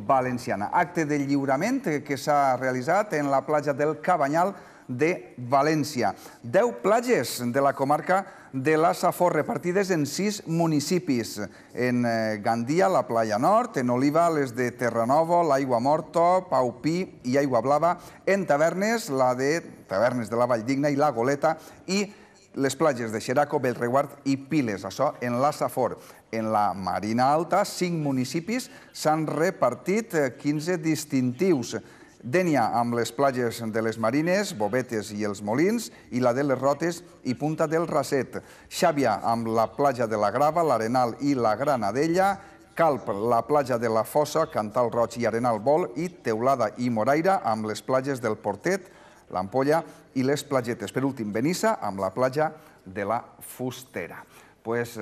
valenciana. Acte de lliurament que s'ha realitzat en la platja del Cabanyal de València. 10 platges de la comarca de la Safor, repartides en 6 municipis. En Gandia, la Playa Nord, en Oliva, les de Terranova, l'Aigua Morta, Paupí i Aigua Blava, en Tavernes, la de Tavernes de la Valldigna i la Goleta, i les platges de Xeraco, Bellreguard i Piles, això en la Safor. En la Marina Alta, 5 municipis s'han repartit 15 distintius. Dénia amb les platges de les Marines, Bovetes i els Molins, i la de les Rotes i Punta del Raset. Xàbia amb la platja de la Grava, l'Arenal i la Granadella, Calp, la platja de la Fossa, Cantal Roig i Arenal Vol, i Teulada i Moraira amb les platges del Portet, l'Ampolla i les Platgetes. Per últim, Benissa amb la platja de la Fustera. Pues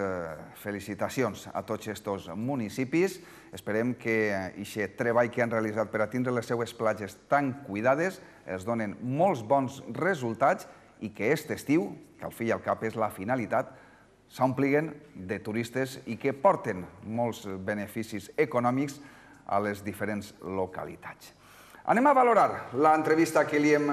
felicitacions a tots aquests municipis. Esperem que aquest treball que han realitzat per a tindre les seues platges tan cuidades es donen molts bons resultats i que aquest estiu, que al fi i al cap és la finalitat, s'ompliguen de turistes i que porten molts beneficis econòmics a les diferents localitats. Anem a valorar l'entrevista que li hem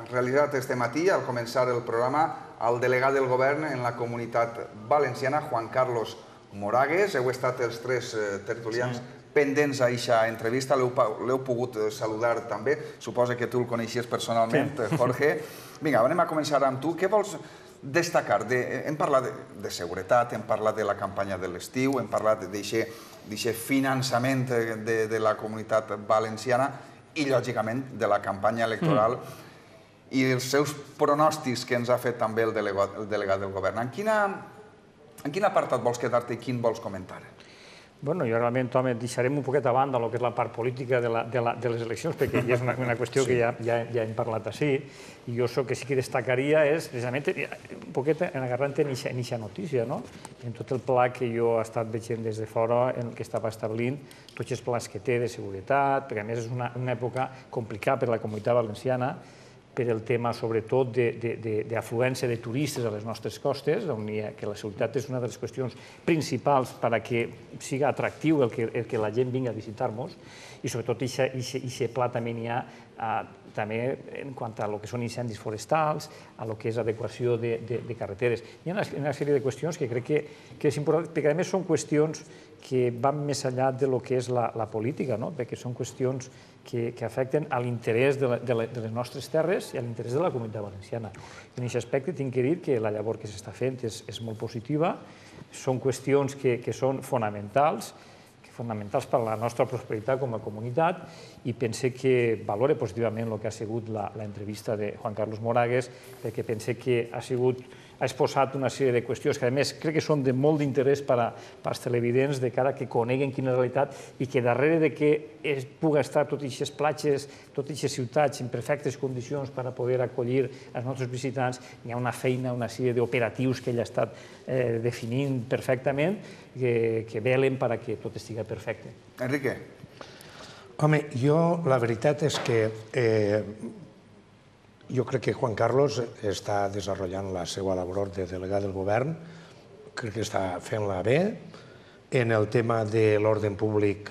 realitzat este matí, al començar el programa, al delegat del govern en la comunitat valenciana, Juan Carlos Moragues. Heu estat els 3 tertulians pendents a aquesta entrevista, l'heu pogut saludar també. Suposa que tu el coneixies personalment, Jorge. Vinga, anem a començar amb tu. Què vols destacar? Hem parlat de seguretat, hem parlat de la campanya de l'estiu, hem parlat d'aquest finançament de la comunitat valenciana i, lògicament, de la campanya electoral i els seus pronòstics que ens ha fet també el delegat del govern. En quin apartat vols quedar-te i quin vols comentar? Bueno, jo realment, home, deixarem un poquet a banda el que és la part política de les eleccions, perquè ja és una qüestió que ja hem parlat així, i jo el que sí que destacaria és, precisament, un poquet agarrant en aquesta notícia, no? En tot el pla que jo he estat veient des de fora, en què estava establint, tots els plans que té de seguretat, perquè a més és una època complicada per a la comunitat valenciana, per el tema, sobretot, d'afluència de turistes a les nostres costes, que la seguretat és una de les qüestions principals perquè sigui atractiu el que la gent vingui a visitar-nos, i sobretot aquest pla també n'hi ha també en quant a lo que són incendis forestals, a lo que és adequació de carreteres. Hi ha una sèrie de qüestions que crec que és important, perquè a més són qüestions que van més enllà de lo que és la política, perquè són qüestions que afecten a l'interès de les nostres terres i a l'interès de la comunitat valenciana. En aquest aspecte tinc que dir que la llavor que s'està fent és molt positiva, són qüestions que són fonamentals per a la nostra prosperitat com a comunitat, i pense que valore positivament el que ha sigut l'entrevista de Juan Carlos Moragues, perquè pense que ha sigut ha exposat una sèrie de qüestions que, a més, crec que són de molt d'interès per als televidents de cara que coneguen quina és la realitat i que darrere de que es pugui estar totes aquestes platges, totes aquestes ciutats en perfectes condicions per a poder acollir els nostres visitants, hi ha una feina, una sèrie d'operatius que ell ha estat definint perfectament que velen perquè tot estigui perfecte. Enrique. Home, la veritat és que jo crec que Juan Carlos està desenvolupant la seva labor de delegat del govern, crec que està fent-la bé. En el tema de l'ordre públic,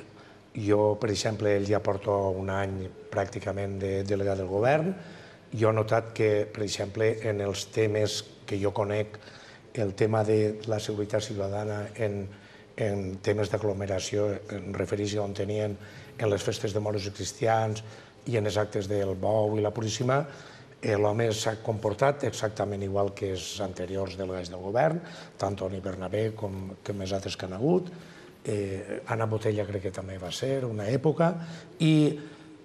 jo, per exemple, ell ja porta un any pràcticament de delegat del govern. Jo he notat que, per exemple, en els temes que jo conec, el tema de la seguretat ciutadana en temes d'aglomeració, em refereixo on tenien en les festes de moros i cristians i en els actes del Bou i la Puríssima, l'home s'ha comportat exactament igual que els anteriors delegats del govern, tant Toni Bernabé com els altres que han hagut. Anna Botella crec que també va ser una època, i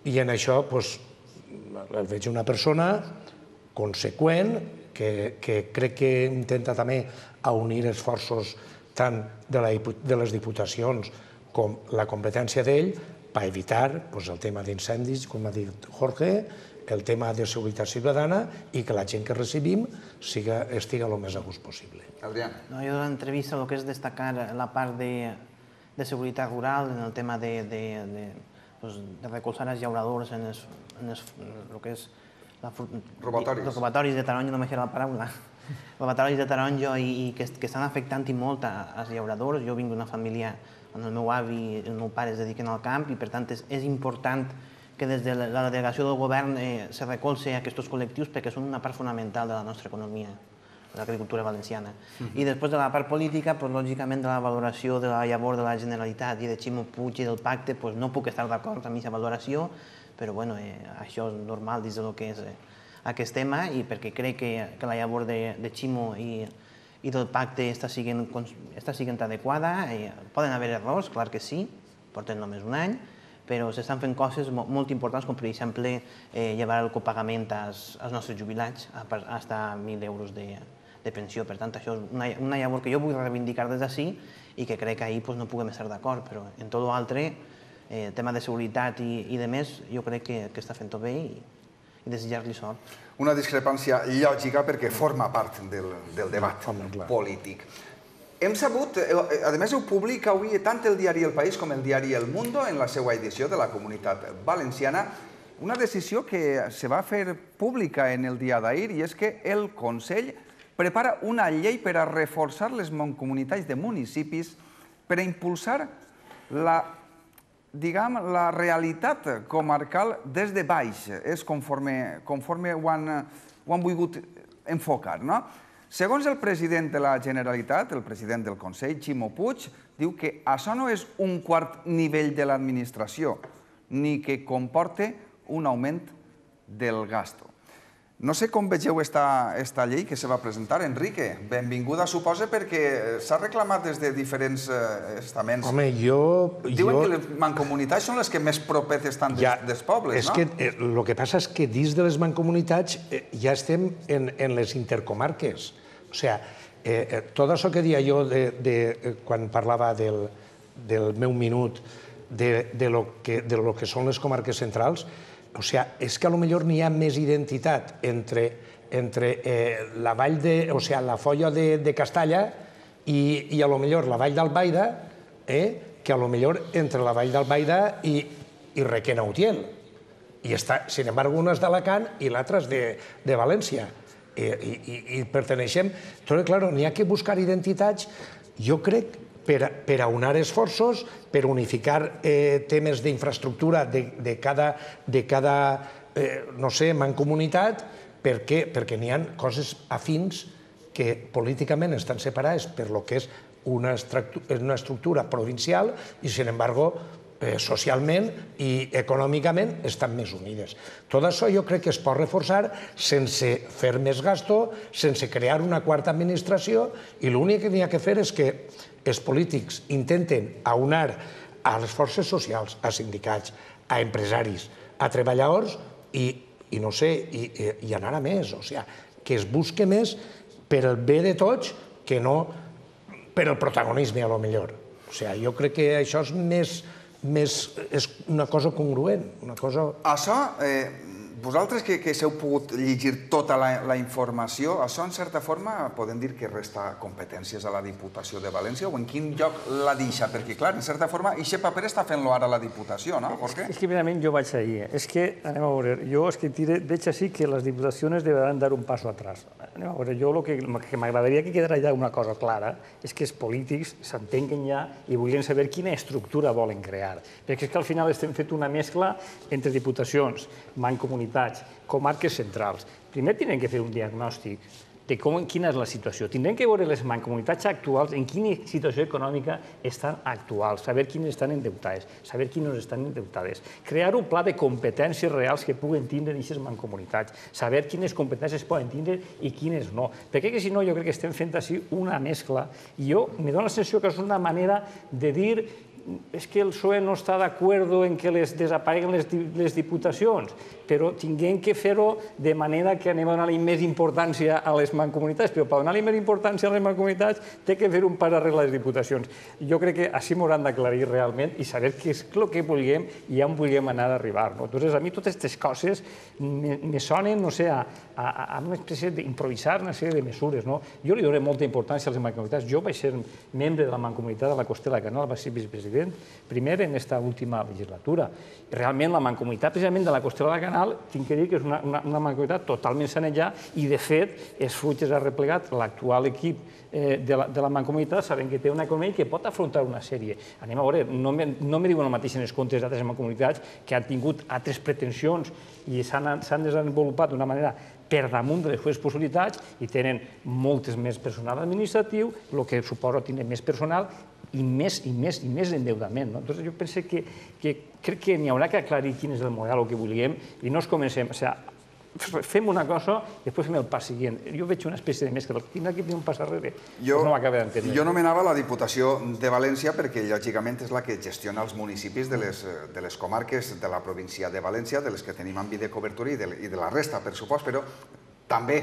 en això el veig una persona conseqüent que crec que intenta també unir esforços tant de les diputacions com la competència d'ell per evitar el tema d'incendis, com ha dit Jorge, el tema de seguretat ciutadana i que la gent que recibim estigui el més a gust possible. Adrián. Jo de l'entrevista el que és destacar la part de seguretat rural en el tema de recolzar els llauradors en el que és robatoris. Els robatoris de taronja, no m'aixerà la paraula. Robatoris de taronja i que estan afectant i molt als llauradors. Jo vinc d'una família on el meu avi i el meu pare es dediquen al camp i per tant és important que des de la delegació del govern se recolze aquests col·lectius perquè són una part fonamental de la nostra economia, de l'agricultura valenciana. I després de la part política, lògicament de la valoració de la llavor de la Generalitat i de Ximo Puig i del pacte, no puc estar d'acord amb aquesta valoració, però això és normal dins del que és aquest tema i perquè crec que la llavor de Ximo i del pacte està sent adequada. Poden haver errors, clar que sí, porten només un any, però s'estan fent coses molt importants, com per exemple llevar el copagament als nostres jubilats fins a 1.000 euros de pensió. Per tant, això és una llavor que jo vull reivindicar des d'ací i que crec que ahir no puguem estar d'acord, però en tot l'altre, tema de seguretat i de més, jo crec que està fent-ho bé i desitjar-li sort. Una discrepància lògica perquè forma part del debat polític. Hem sabut, a més ho publica avui tant el diari El País com el diari El Mundo en la seva edició de la Comunitat Valenciana, una decisió que se va fer pública en el dia d'ahir i és que el Consell prepara una llei per a reforçar les mancomunitats de municipis per a impulsar la realitat comarcal des de baix. És conforme ho han volgut enfocar, no? Segons el president de la Generalitat, el president del Consell, Ximo Puig, diu que això no és un quart nivell de l'administració, ni que comporte un augment del gasto. No sé com vegeu esta llei que se va presentar. Enrique, benvinguda, suposa, perquè s'ha reclamat des de diferents estaments. Home, diuen que les mancomunitats són les que més properes estan dels pobles, no? És que el que passa és que dins de les mancomunitats ja estem en les intercomarques. O sigui, tot això que dia jo quan parlava del meu minut de lo que són les comarques centrals, o sigui, és que potser n'hi ha més identitat entre la vall o sigui, la Foia de Castalla i potser la vall d'Albaida que potser entre la vall d'Albaida i Requena-Utiel. I, sin embargo, una és d'Alacant i l'altra és de València. I perteneixem... Però, clar, n'hi ha que buscar identitats, jo crec, per aunar esforços, per unificar temes d'infraestructura de cada, no sé, mancomunitat, perquè n'hi ha coses afins que políticament estan separades per lo que és una estructura provincial i, sin embargo, socialment i econòmicament estan més unides. Tot això jo crec que es pot reforçar sense fer més gasto, sense crear una quarta administració, i l'únic que n'hi ha que fer és que els polítics intenten aunar a les forces socials, a sindicats, a empresaris, a treballadors i no sé, i anar a més. O sigui, que es busque més per el bé de tots que no per el protagonisme, a lo millor. O sigui, jo crec que això és una cosa congruent, una cosa... Això, vosaltres que s'heu pogut llegir tota la informació, això en certa forma podem dir que resta competències a la Diputació de València o en quin lloc la deixa? Perquè, clar, en certa forma, aquest paper està fent-lo ara la Diputació, no, Jorge? És que, primerament, jo vaig ahir. És que, anem a veure, jo és que veig així que les diputacions deuen dar un passo atrás. Anem a veure, jo el que m'agradaria que quedara ja una cosa clara és que els polítics s'entenguen ja i vulguin saber quina estructura volen crear. Perquè és que al final estem fent una mescla entre diputacions, mancomunitats, comarques centrals. Primer tindrem que fer un diagnòstic de quina és la situació. Tindrem que veure les mancomunitats actuals, en quina situació econòmica estan actuals, saber quines estan endeutades, saber quines estan endeutades. Crear un pla de competències reals que puguen tindre aquestes mancomunitats, saber quines competències poden tindre i quines no. Perquè si no, jo crec que estem fent així una mescla i jo me dono la sensació que és una manera de dir és que el PSOE no està d'acord en que desapareguen les diputacions, però tinguem que fer-ho de manera que anem a donar-li més importància a les mancomunitats, però per donar-li més importància a les mancomunitats té que fer un pas darrere les diputacions. Jo crec que així m'hauran d'aclarir realment i saber què és el que vulguem i on vulguem anar a arribar. Entonces, a mi totes aquestes coses me sonen, no sé, a una espècie d'improvisar una sèrie de mesures. Jo li dono molta importància a les mancomunitats. Jo vaig ser membre de la mancomunitat de la Costera de la Canal, vaig ser vicepresident primer en aquesta última legislatura. Realment la mancomunitat precisament de la Costera de la Canal, tinc que dir que és una mancomunitat totalment sanejada i de fet els fruits ha replegat l'actual equip de la mancomunitat sabent que té una economia que pot afrontar una sèrie. Anem a veure, no me diuen el mateix en els comptes d'altres mancomunitats que han tingut altres pretensions i s'han desenvolupat d'una manera per damunt de les seves possibilitats i tenen moltes més personal administratiu, el que suposa tenir més personal i més endeudament. Llavors jo penso que crec que n'hi haurà que aclarir quin és el model que volíem i no ens comencem, o sigui, fem una cosa i després fem el pas següent. Jo veig una espècie de mescla, tindrà que tenir un pas darrere, no m'acaba d'entendre. Jo nomenava la Diputació de València perquè lògicament és la que gestiona els municipis de les comarques de la província de València, de les que tenim àmbit de cobertura i de la resta, per supost, però també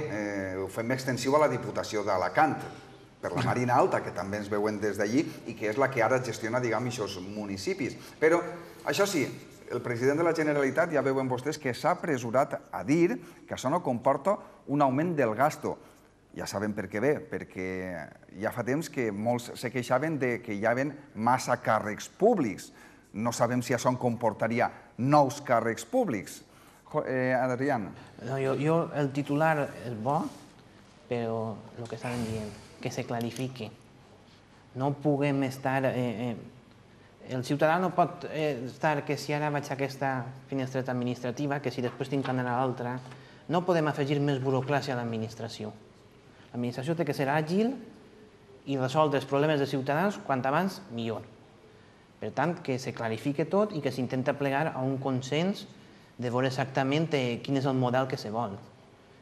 ho fem extensiu a la Diputació d'Alacant, per la Marina Alta, que també ens veuen des d'allí i que és la que ara gestiona, diguem, aquests municipis. Però, això sí, el president de la Generalitat, ja veuen vostès, que s'ha apresurat a dir que això no comporta un augment del gasto. Ja sabem per què ve, perquè ja fa temps que molts se queixaven que hi havia massa càrrecs públics. No sabem si això comportaria nous càrrecs públics. Adrián. Jo, el titular és bo, però el que estaven dient, que se clarifique. No puguem estar... El ciutadà no pot estar que si ara vaig a aquesta finestreta administrativa, que si després tinc que anar a l'altra, no podem afegir més burocràcia a l'administració. L'administració té que ser àgil i resoldre els problemes dels ciutadans quant abans millor. Per tant, que se clarifique tot i que s'intenta plegar a un consens de veure exactament quin és el model que se vol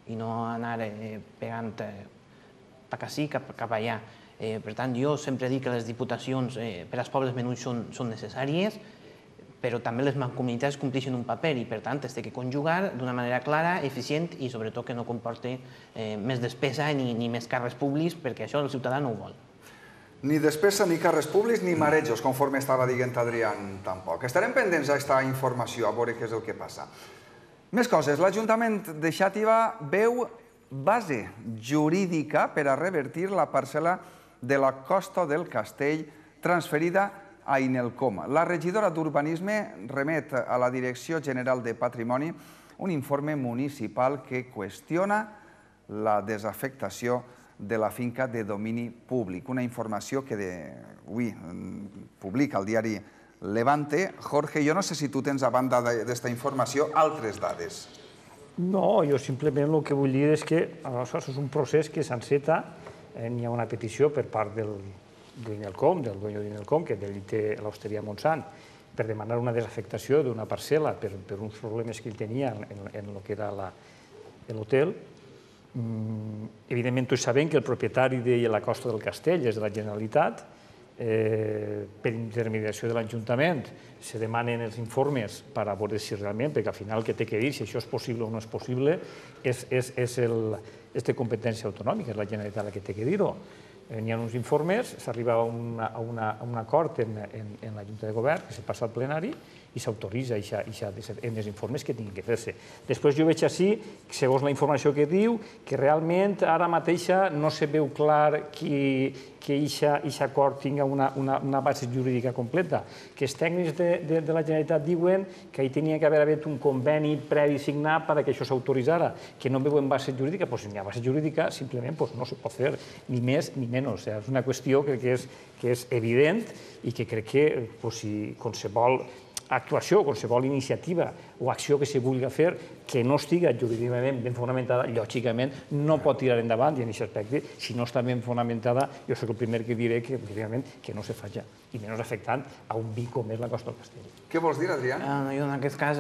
i no anar pegant cap ací, cap allà. Per tant, jo sempre dic que les diputacions per als pobles menuts són necessàries, però també les mancomunitats compleixen un paper i, per tant, es té que conjugar d'una manera clara, eficient i, sobretot, que no comporti més despesa ni més càrrecs públics, perquè això el ciutadà no ho vol. Ni despesa, ni càrrecs públics, ni marejos, conforme estava dient Adrián, tampoc. Estarem pendents d'aquesta informació, a veure què és el que passa. Més coses. L'Ajuntament de Xàtiva veu base jurídica per a revertir la parcel·la de la Costa del Castell transferida a Inelcom. La regidora d'Urbanisme remet a la Direcció General de Patrimoni un informe municipal que qüestiona la desafectació de la finca de domini públic. Una informació que avui publica el diari Levante. Jorge, jo no sé si tu tens, a banda d'esta informació, altres dades. No, jo simplement el que vull dir és que això és un procés que s'enceta. N'hi ha una petició per part d'Inelcom, del dueño d'Inelcom, que té l'Hosteria Montsant, per demanar una desafectació d'una parcel·la per uns problemes que ell tenia en el que era l'hotel. Evidentment, tots sabem que el propietari de la Costa del Castell és de la Generalitat, per intermediació de l'Ajuntament, se demanen els informes per a veure si realment, perquè al final el que té que dir si això és possible o no és possible és de competència autonòmica, és la Generalitat la que té que dir-ho. Hi ha uns informes, s'arriba a un acord en la Junta de Govern, que se passa al plenari, i s'autoritza en els informes que tinguin que fer-se. Després jo veig així, segons la informació que diu, que realment ara mateixa no se veu clar que aquest acord tingui una base jurídica completa, que els tècnics de la Generalitat diuen que hi tenia que haver un conveni previ signat perquè això s'autoritzara, que no veuen base jurídica, doncs si hi ha base jurídica simplement no se pot fer ni més ni menys. És una qüestió que és evident i que crec que si qualsevol actuació, qualsevol iniciativa o acció que se vulgui fer que no estigui jurídicament ben fonamentada, lògicament no pot tirar endavant, i en aquest aspecte, si no està ben fonamentada, jo soc el primer que diré que no se faci, i menys afectant a un vi com és la Costa del Castell. Què vols dir, Adrià? Jo en aquest cas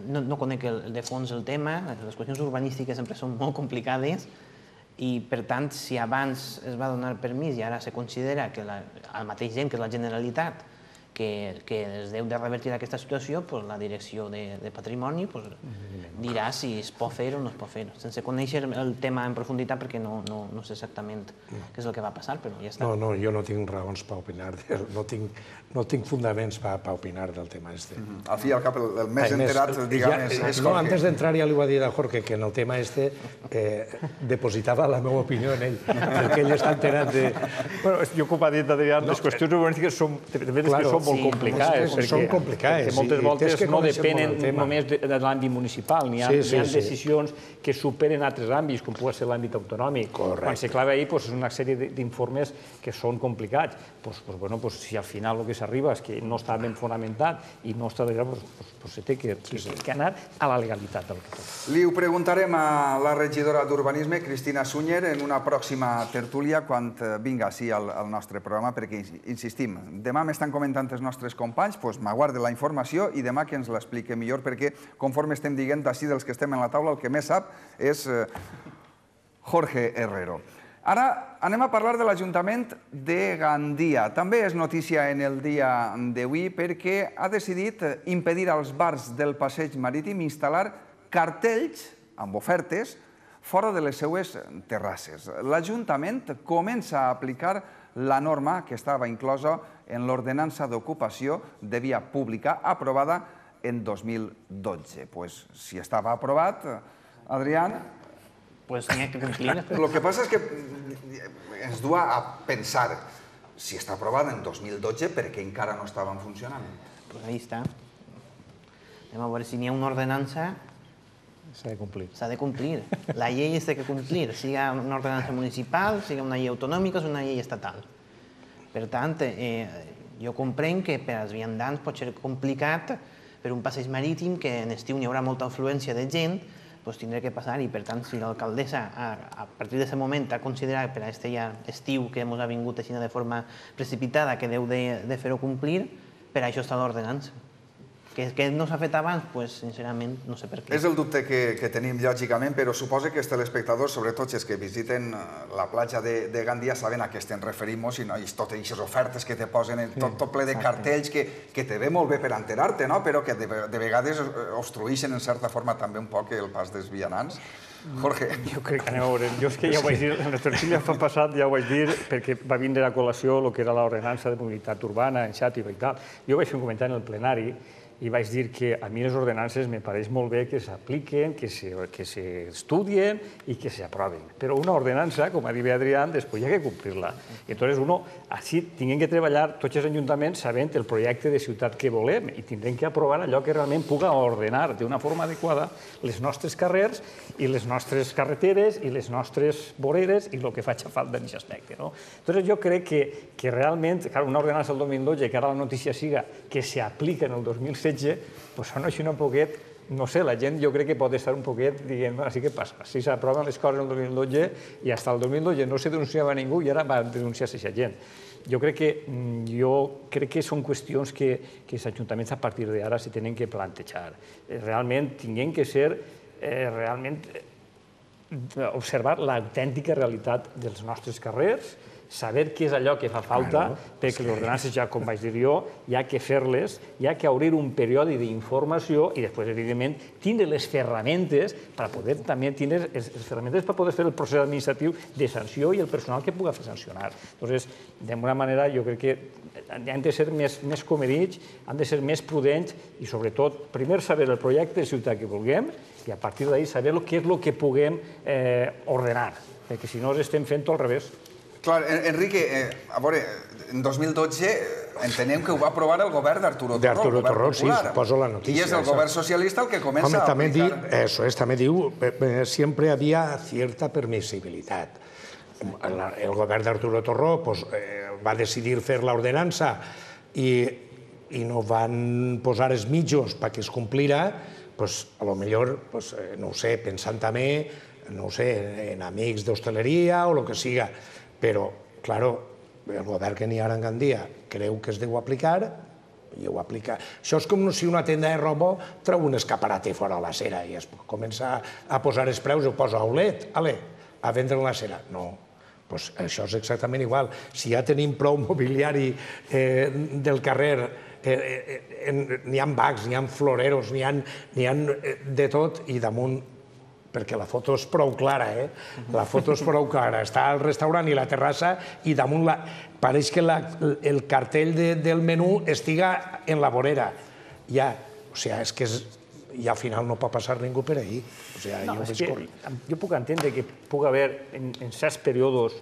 no conec de fons el tema, les qüestions urbanístiques sempre són molt complicades, i per tant, si abans es va donar permís i ara se considera que el mateix gent, que és la Generalitat, que es deu de revertir aquesta situació, la Direcció de Patrimoni dirà si es pot fer o no es pot fer, sense conèixer el tema en profunditat, perquè no sé exactament què és el que va passar, però ja està. No, jo no tinc raons per opinar, no tinc fundaments per opinar del tema este. Al fi i al cap, el més enterat, diguem, és Jorge. Antes d'entrar ja li va dir a Jorge que en el tema este depositava la meva opinió en ell, perquè ell està enterat de... Jo, com ha dit Adrià, les qüestions urbanístiques són molt complicades. Són complicades. Perquè moltes voltes no depenen només de l'àmbit municipal, n'hi ha decisions que superen altres àmbits, com pugui ser l'àmbit autonòmic. Quan se clava ahí, és una sèrie d'informes que són complicats. Si al final el que s'arriba és que no està ben fonamentat i no està d'allà, se té que anar a la legalitat del que tot. Li ho preguntarem a la regidora d'Urbanisme, Cristina Sunyer, en una pròxima tertúlia quan vinga així al nostre programa, perquè, insistim, demà m'estan comentant els nostres companys, doncs m'aguarde la informació i demà que ens l'explique millor, perquè conforme estem dient, d'ací dels que estem en la taula, el que més sap és Jorge Herrero. Ara anem a parlar de l'Ajuntament de Gandia. També és notícia en el dia d'avui perquè ha decidit impedir als bars del passeig marítim instal·lar cartells amb ofertes fora de les seues terrasses. L'Ajuntament comença a aplicar la norma que estava inclosa en l'ordenança d'ocupació de via pública aprovada en 2012. Si estava aprovat, Adrià... N'hi ha que complir. El que passa és que ens du a pensar si està aprovat en 2012 perquè encara no estaven funcionant. Ahí està. Anem a veure si n'hi ha una ordenança. S'ha de complir. S'ha de complir. La llei es té que complir, siga una ordenança municipal, siga una llei autonòmica o una llei estatal. Per tant, jo comprenc que per als viandants pot ser complicat per un passeig marítim que en estiu hi haurà molta afluència de gent, doncs tindrà que passar i per tant si l'alcaldessa a partir d'aquest moment ha considerat per a aquest estiu que ens ha vingut així de forma precipitada que deu de fer-ho complir, per això està l'ordenança. Que no s'ha fet abans, doncs, sincerament, no sé per què. És el dubte que tenim, lògicament, però suposo que els telespectadors, sobretot els que visiten la platja de Gandia, saben a què estem referint i totes aquestes ofertes que te posen tot ple de cartells que te ve molt bé per enterar-te, però que de vegades obstrueixen en certa forma també un poc el pas dels vianants. Jorge. Jo crec que anem a veure. Jo és que ja ho vaig dir, en les tertúlies passat ja ho vaig dir, perquè va vindre a col·lació el que era l'ordenança de mobilitat urbana en Xàtiva i tal. Jo vaig fer un comentari en el plenari i vaig dir que a mi les ordenances me pareix molt bé que s'apliquen, que s'estudien i que s'aproven. Però una ordenança, com ha dit Adrià, després hi ha que complir-la. I llavors, així tinguem que treballar tots els ajuntaments sabent el projecte de ciutat que volem i tindrem que aprovar allò que realment puga ordenar d'una forma adequada les nostres carrers i les nostres carreteres i les nostres voreres i el que faci falta en aquest aspecte. Llavors, jo crec que realment, una ordenança del 2012, que ara la notícia siga que s'aplica en el 2016, doncs sona així un poquet, no sé, la gent jo crec que pot estar un poquet dient, bueno, sí que passa, si s'aproven les coses en el 2012 i fins al 2012 no se denunciava ningú i ara va denunciar-se aquesta gent. Jo crec que són qüestions que els ajuntaments a partir d'ara se tenen que plantejar. Realment tinguem que ser, realment observar l'autèntica realitat dels nostres carrers, saber què és allò que fa falta, perquè les ordenances, ja com vaig dir jo, hi ha que fer-les, hi ha que obrir un període d'informació i després, evidentment, tindre les ferramentes per poder també tindre les ferramentes per poder fer el procés administratiu de sanció i el personal que pugui fer sancionar. Llavors, d'alguna manera, jo crec que han de ser més comedits, han de ser més prudents i, sobretot, primer saber el projecte de ciutat que vulguem i, a partir d'ahir, saber què és el que puguem ordenar, perquè si no estem fent tot al revés. Clar, Enrique, a veure, en 2012 entenem que ho va aprovar el govern d'Arturo Torró. D'Arturo Torró, sí, poso la notícia. I és el govern socialista el que comença a aplicar... Eso es, també diu, siempre había cierta permisibilidad. El govern d'Arturo Torró va decidir fer l'ordenança i no van posar els mitjos perquè es complira, a lo millor, no ho sé, pensant també, no ho sé, en amics d'hostaleria o el que siga. Però, claro, el govern que n'hi ha en Gandia creu que es deu aplicar i ho aplica. Això és com si una tenda de roba treu un escaparate fora a la cera i es comença a posar els preus i ho posa a Aulet, a vendre la cera. No, doncs això és exactament igual. Si ja tenim prou mobiliari del carrer, n'hi ha bacs, n'hi ha floreros, n'hi ha de tot i damunt, perquè la foto és prou clara, la foto és prou clara. Està al restaurant i la terrassa i damunt pareix que el cartell del menú estiga en la vorera. Ja, o sigui, és que al final no pot passar ningú per ahí. Jo puc entendre que pugui haver en certs períodes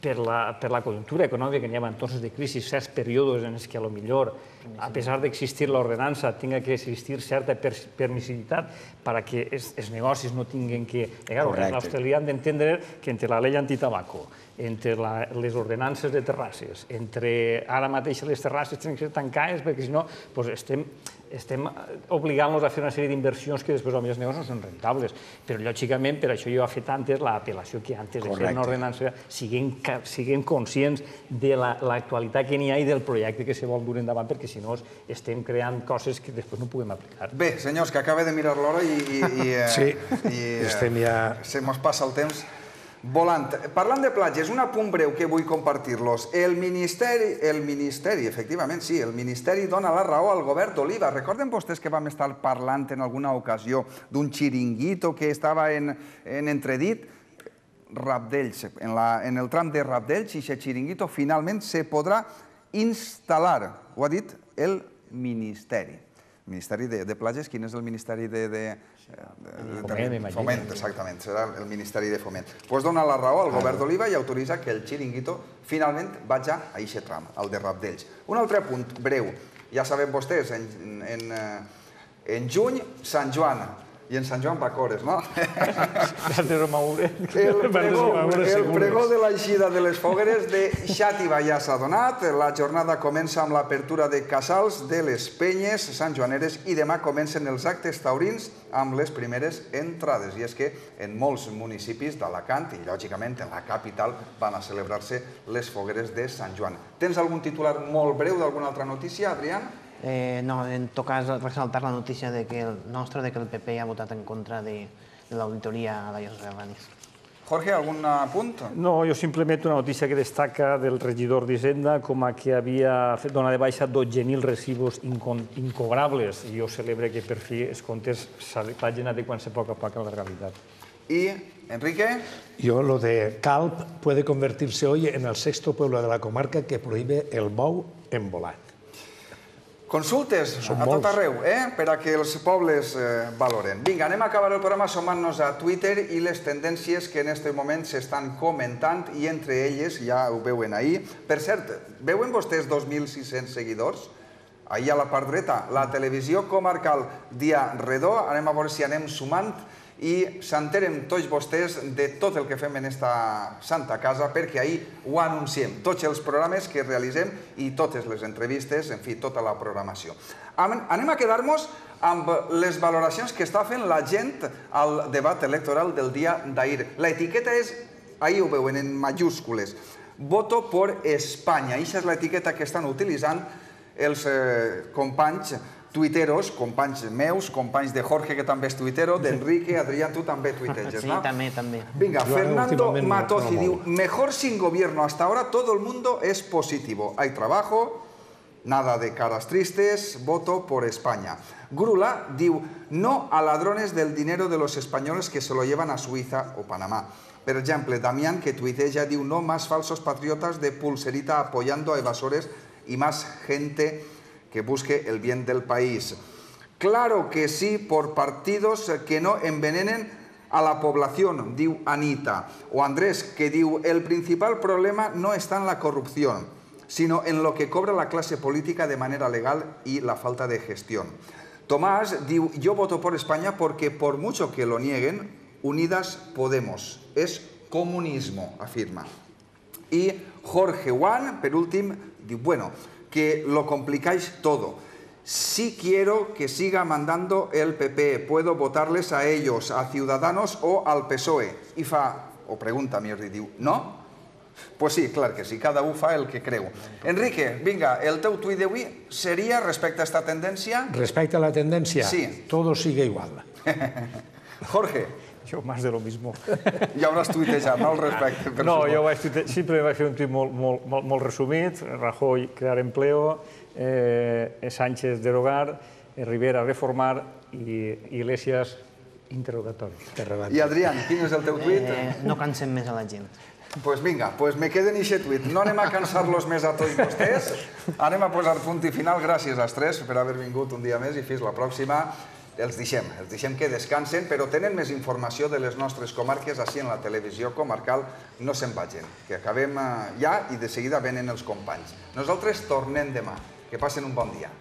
per la conjuntura econòmica que n'hi ha entorns de crisi, certs períodes en els que potser, a pesar d'existir l'ordenança, tinga que existir certa permissivitat perquè els negocis no tinguin que... Els australians han d'entendre que entre la llei antitabaco, entre les ordenances de terrasses, entre ara mateix les terrasses tenen que ser tancades perquè si no estem obligant-los a fer una sèrie d'inversions que després els negocis no són rentables. Però, lògicament, per això jo he fet antes l'apel·lació que antes de fer una ordenança siguem conscients de l'actualitat que n'hi ha i del projecte que se vol dur endavant, perquè si no estem creant coses que després no puguem aplicar. Bé, senyors, que acaba de mirar l'hora i se mos passa el temps volant. Parlant de platges, un apunt breu que vull compartir-los. El Ministeri, efectivament, sí, el Ministeri dona la raó al govern d'Oliva. Recorden vostès que vam estar parlant en alguna ocasió d'un xiringuito que estava en entredit? Rabdells, en el tram de Rabdells, i aquest xiringuito finalment se podrà instal·lar. Ho ha dit el Ministeri. El Ministeri de Platges, quin és el Ministeri de... Foment, exactament, serà el Ministeri de Foment. Doncs dona la raó al govern d'Oliva i autoritza que el xiringuito finalment vagi a aquest tram, al de Rabdells. Un altre punt breu. Ja sabem vostès, en juny, Sant Joan. I en Sant Joan Bacores, no? El pregó de l'eixida de les fogueres de Xàtiva ja s'ha donat. La jornada comença amb l'apertura de casals de les penyes santjoaneres i demà comencen els actes taurins amb les primeres entrades. I és que en molts municipis d'Alacant i, lògicament, en la capital van a celebrar-se les fogueres de Sant Joan. Tens algun titular molt breu d'alguna altra notícia, Adrián? No, en tot cas, ressaltar la notícia que el PP ha votat en contra de l'auditoria a la llosa de Ranis. Jorge, algun punt? No, jo simplement una notícia que destaca del regidor d'Hisenda com a que havia fet donar de baixa 12.000 residus incobrables i jo celebre que per fi els comptes s'hagin adequant-se a poc a poc a la legalitat. I, Enrique? Yo, lo de Calp puede convertirse hoy en el 6º pueblo de la comarca que prohíbe el bou en volat. Consultes a tot arreu, per a que els pobles valoren. Vinga, anem a acabar el programa sumant-nos a Twitter i les tendències que en aquest moment s'estan comentant i entre elles, ja ho veuen ahir. Per cert, veuen vostès 2.600 seguidors? Ahir a la part dreta, la televisió comarcal Dia Redó. Anem a veure si anem sumant i s'enteren tots vostès de tot el que fem en esta santa casa, perquè ahir ho anunciem, tots els programes que realitzem i totes les entrevistes, en fi, tota la programació. Anem a quedar-nos amb les valoracions que està fent la gent al debat electoral del dia d'ahir. L'etiqueta és, ahir ho veuen en majúscules, Voto por España. Aquesta és l'etiqueta que estan utilitzant els companys tuiteros, companys meus, companys de Jorge, que també és tuitero, d'Enrique, Adrián, tu també tuiteges, ¿no? Sí, també. Venga, Fernando Matozzi diu, mejor sin gobierno hasta ahora, todo el mundo es positivo. Hay trabajo, nada de caras tristes, voto por España. Grula diu, no a ladrones del dinero de los españoles que se lo llevan a Suiza o Panamá. Per exemple, Damián, que tuiteja, diu, no más falsos patriotas de pulserita apoyando a evasores y más gente que busque el bien del país. Claro que sí, por partidos que no envenenen a la población, diu Anita. O Andrés, que diu, el principal problema no está en la corrupción, sino en lo que cobra la clase política de manera legal y la falta de gestión. Tomás diu, yo voto por España porque por mucho que lo nieguen, Unidas Podemos es comunismo, afirma. Y Jorge Juan, per últim, diu, bueno, que lo complicáis todo. Sí quiero que siga mandando el PP, puedo votarles a ellos, a Ciudadanos o al PSOE. I fa, o pregunta, millor dit, diu, no? Pues sí, clar que sí, cada un fa el que creu. Enrique, vinga, el teu tuit d'avui seria respecte a esta tendència? Respecte a la tendència, sí. Todo sigue igual. Jorge. Yo más de lo mismo. Ja hauràs tuitejat, no, al respecte? No, jo sempre vaig fer un tuit molt resumit. Rajoy, crear empleo, Sánchez, derogar, Rivera, reformar i Iglesias, interrogatori. I Adrián, quin és el teu tuit? No cansem més a la gent. Pues vinga, pues me queden ixe tuit. No anem a cansar-los més a tots vostès. Anem a posar punt i final. Gràcies als tres per haver vingut un dia més i fins la pròxima. Els deixem que descansen, però tenen més informació de les nostres comarques així en la televisió comarcal. No se'n vagin, que acabem ja i de seguida venen els companys. Nosaltres tornem demà. Que passen un bon dia.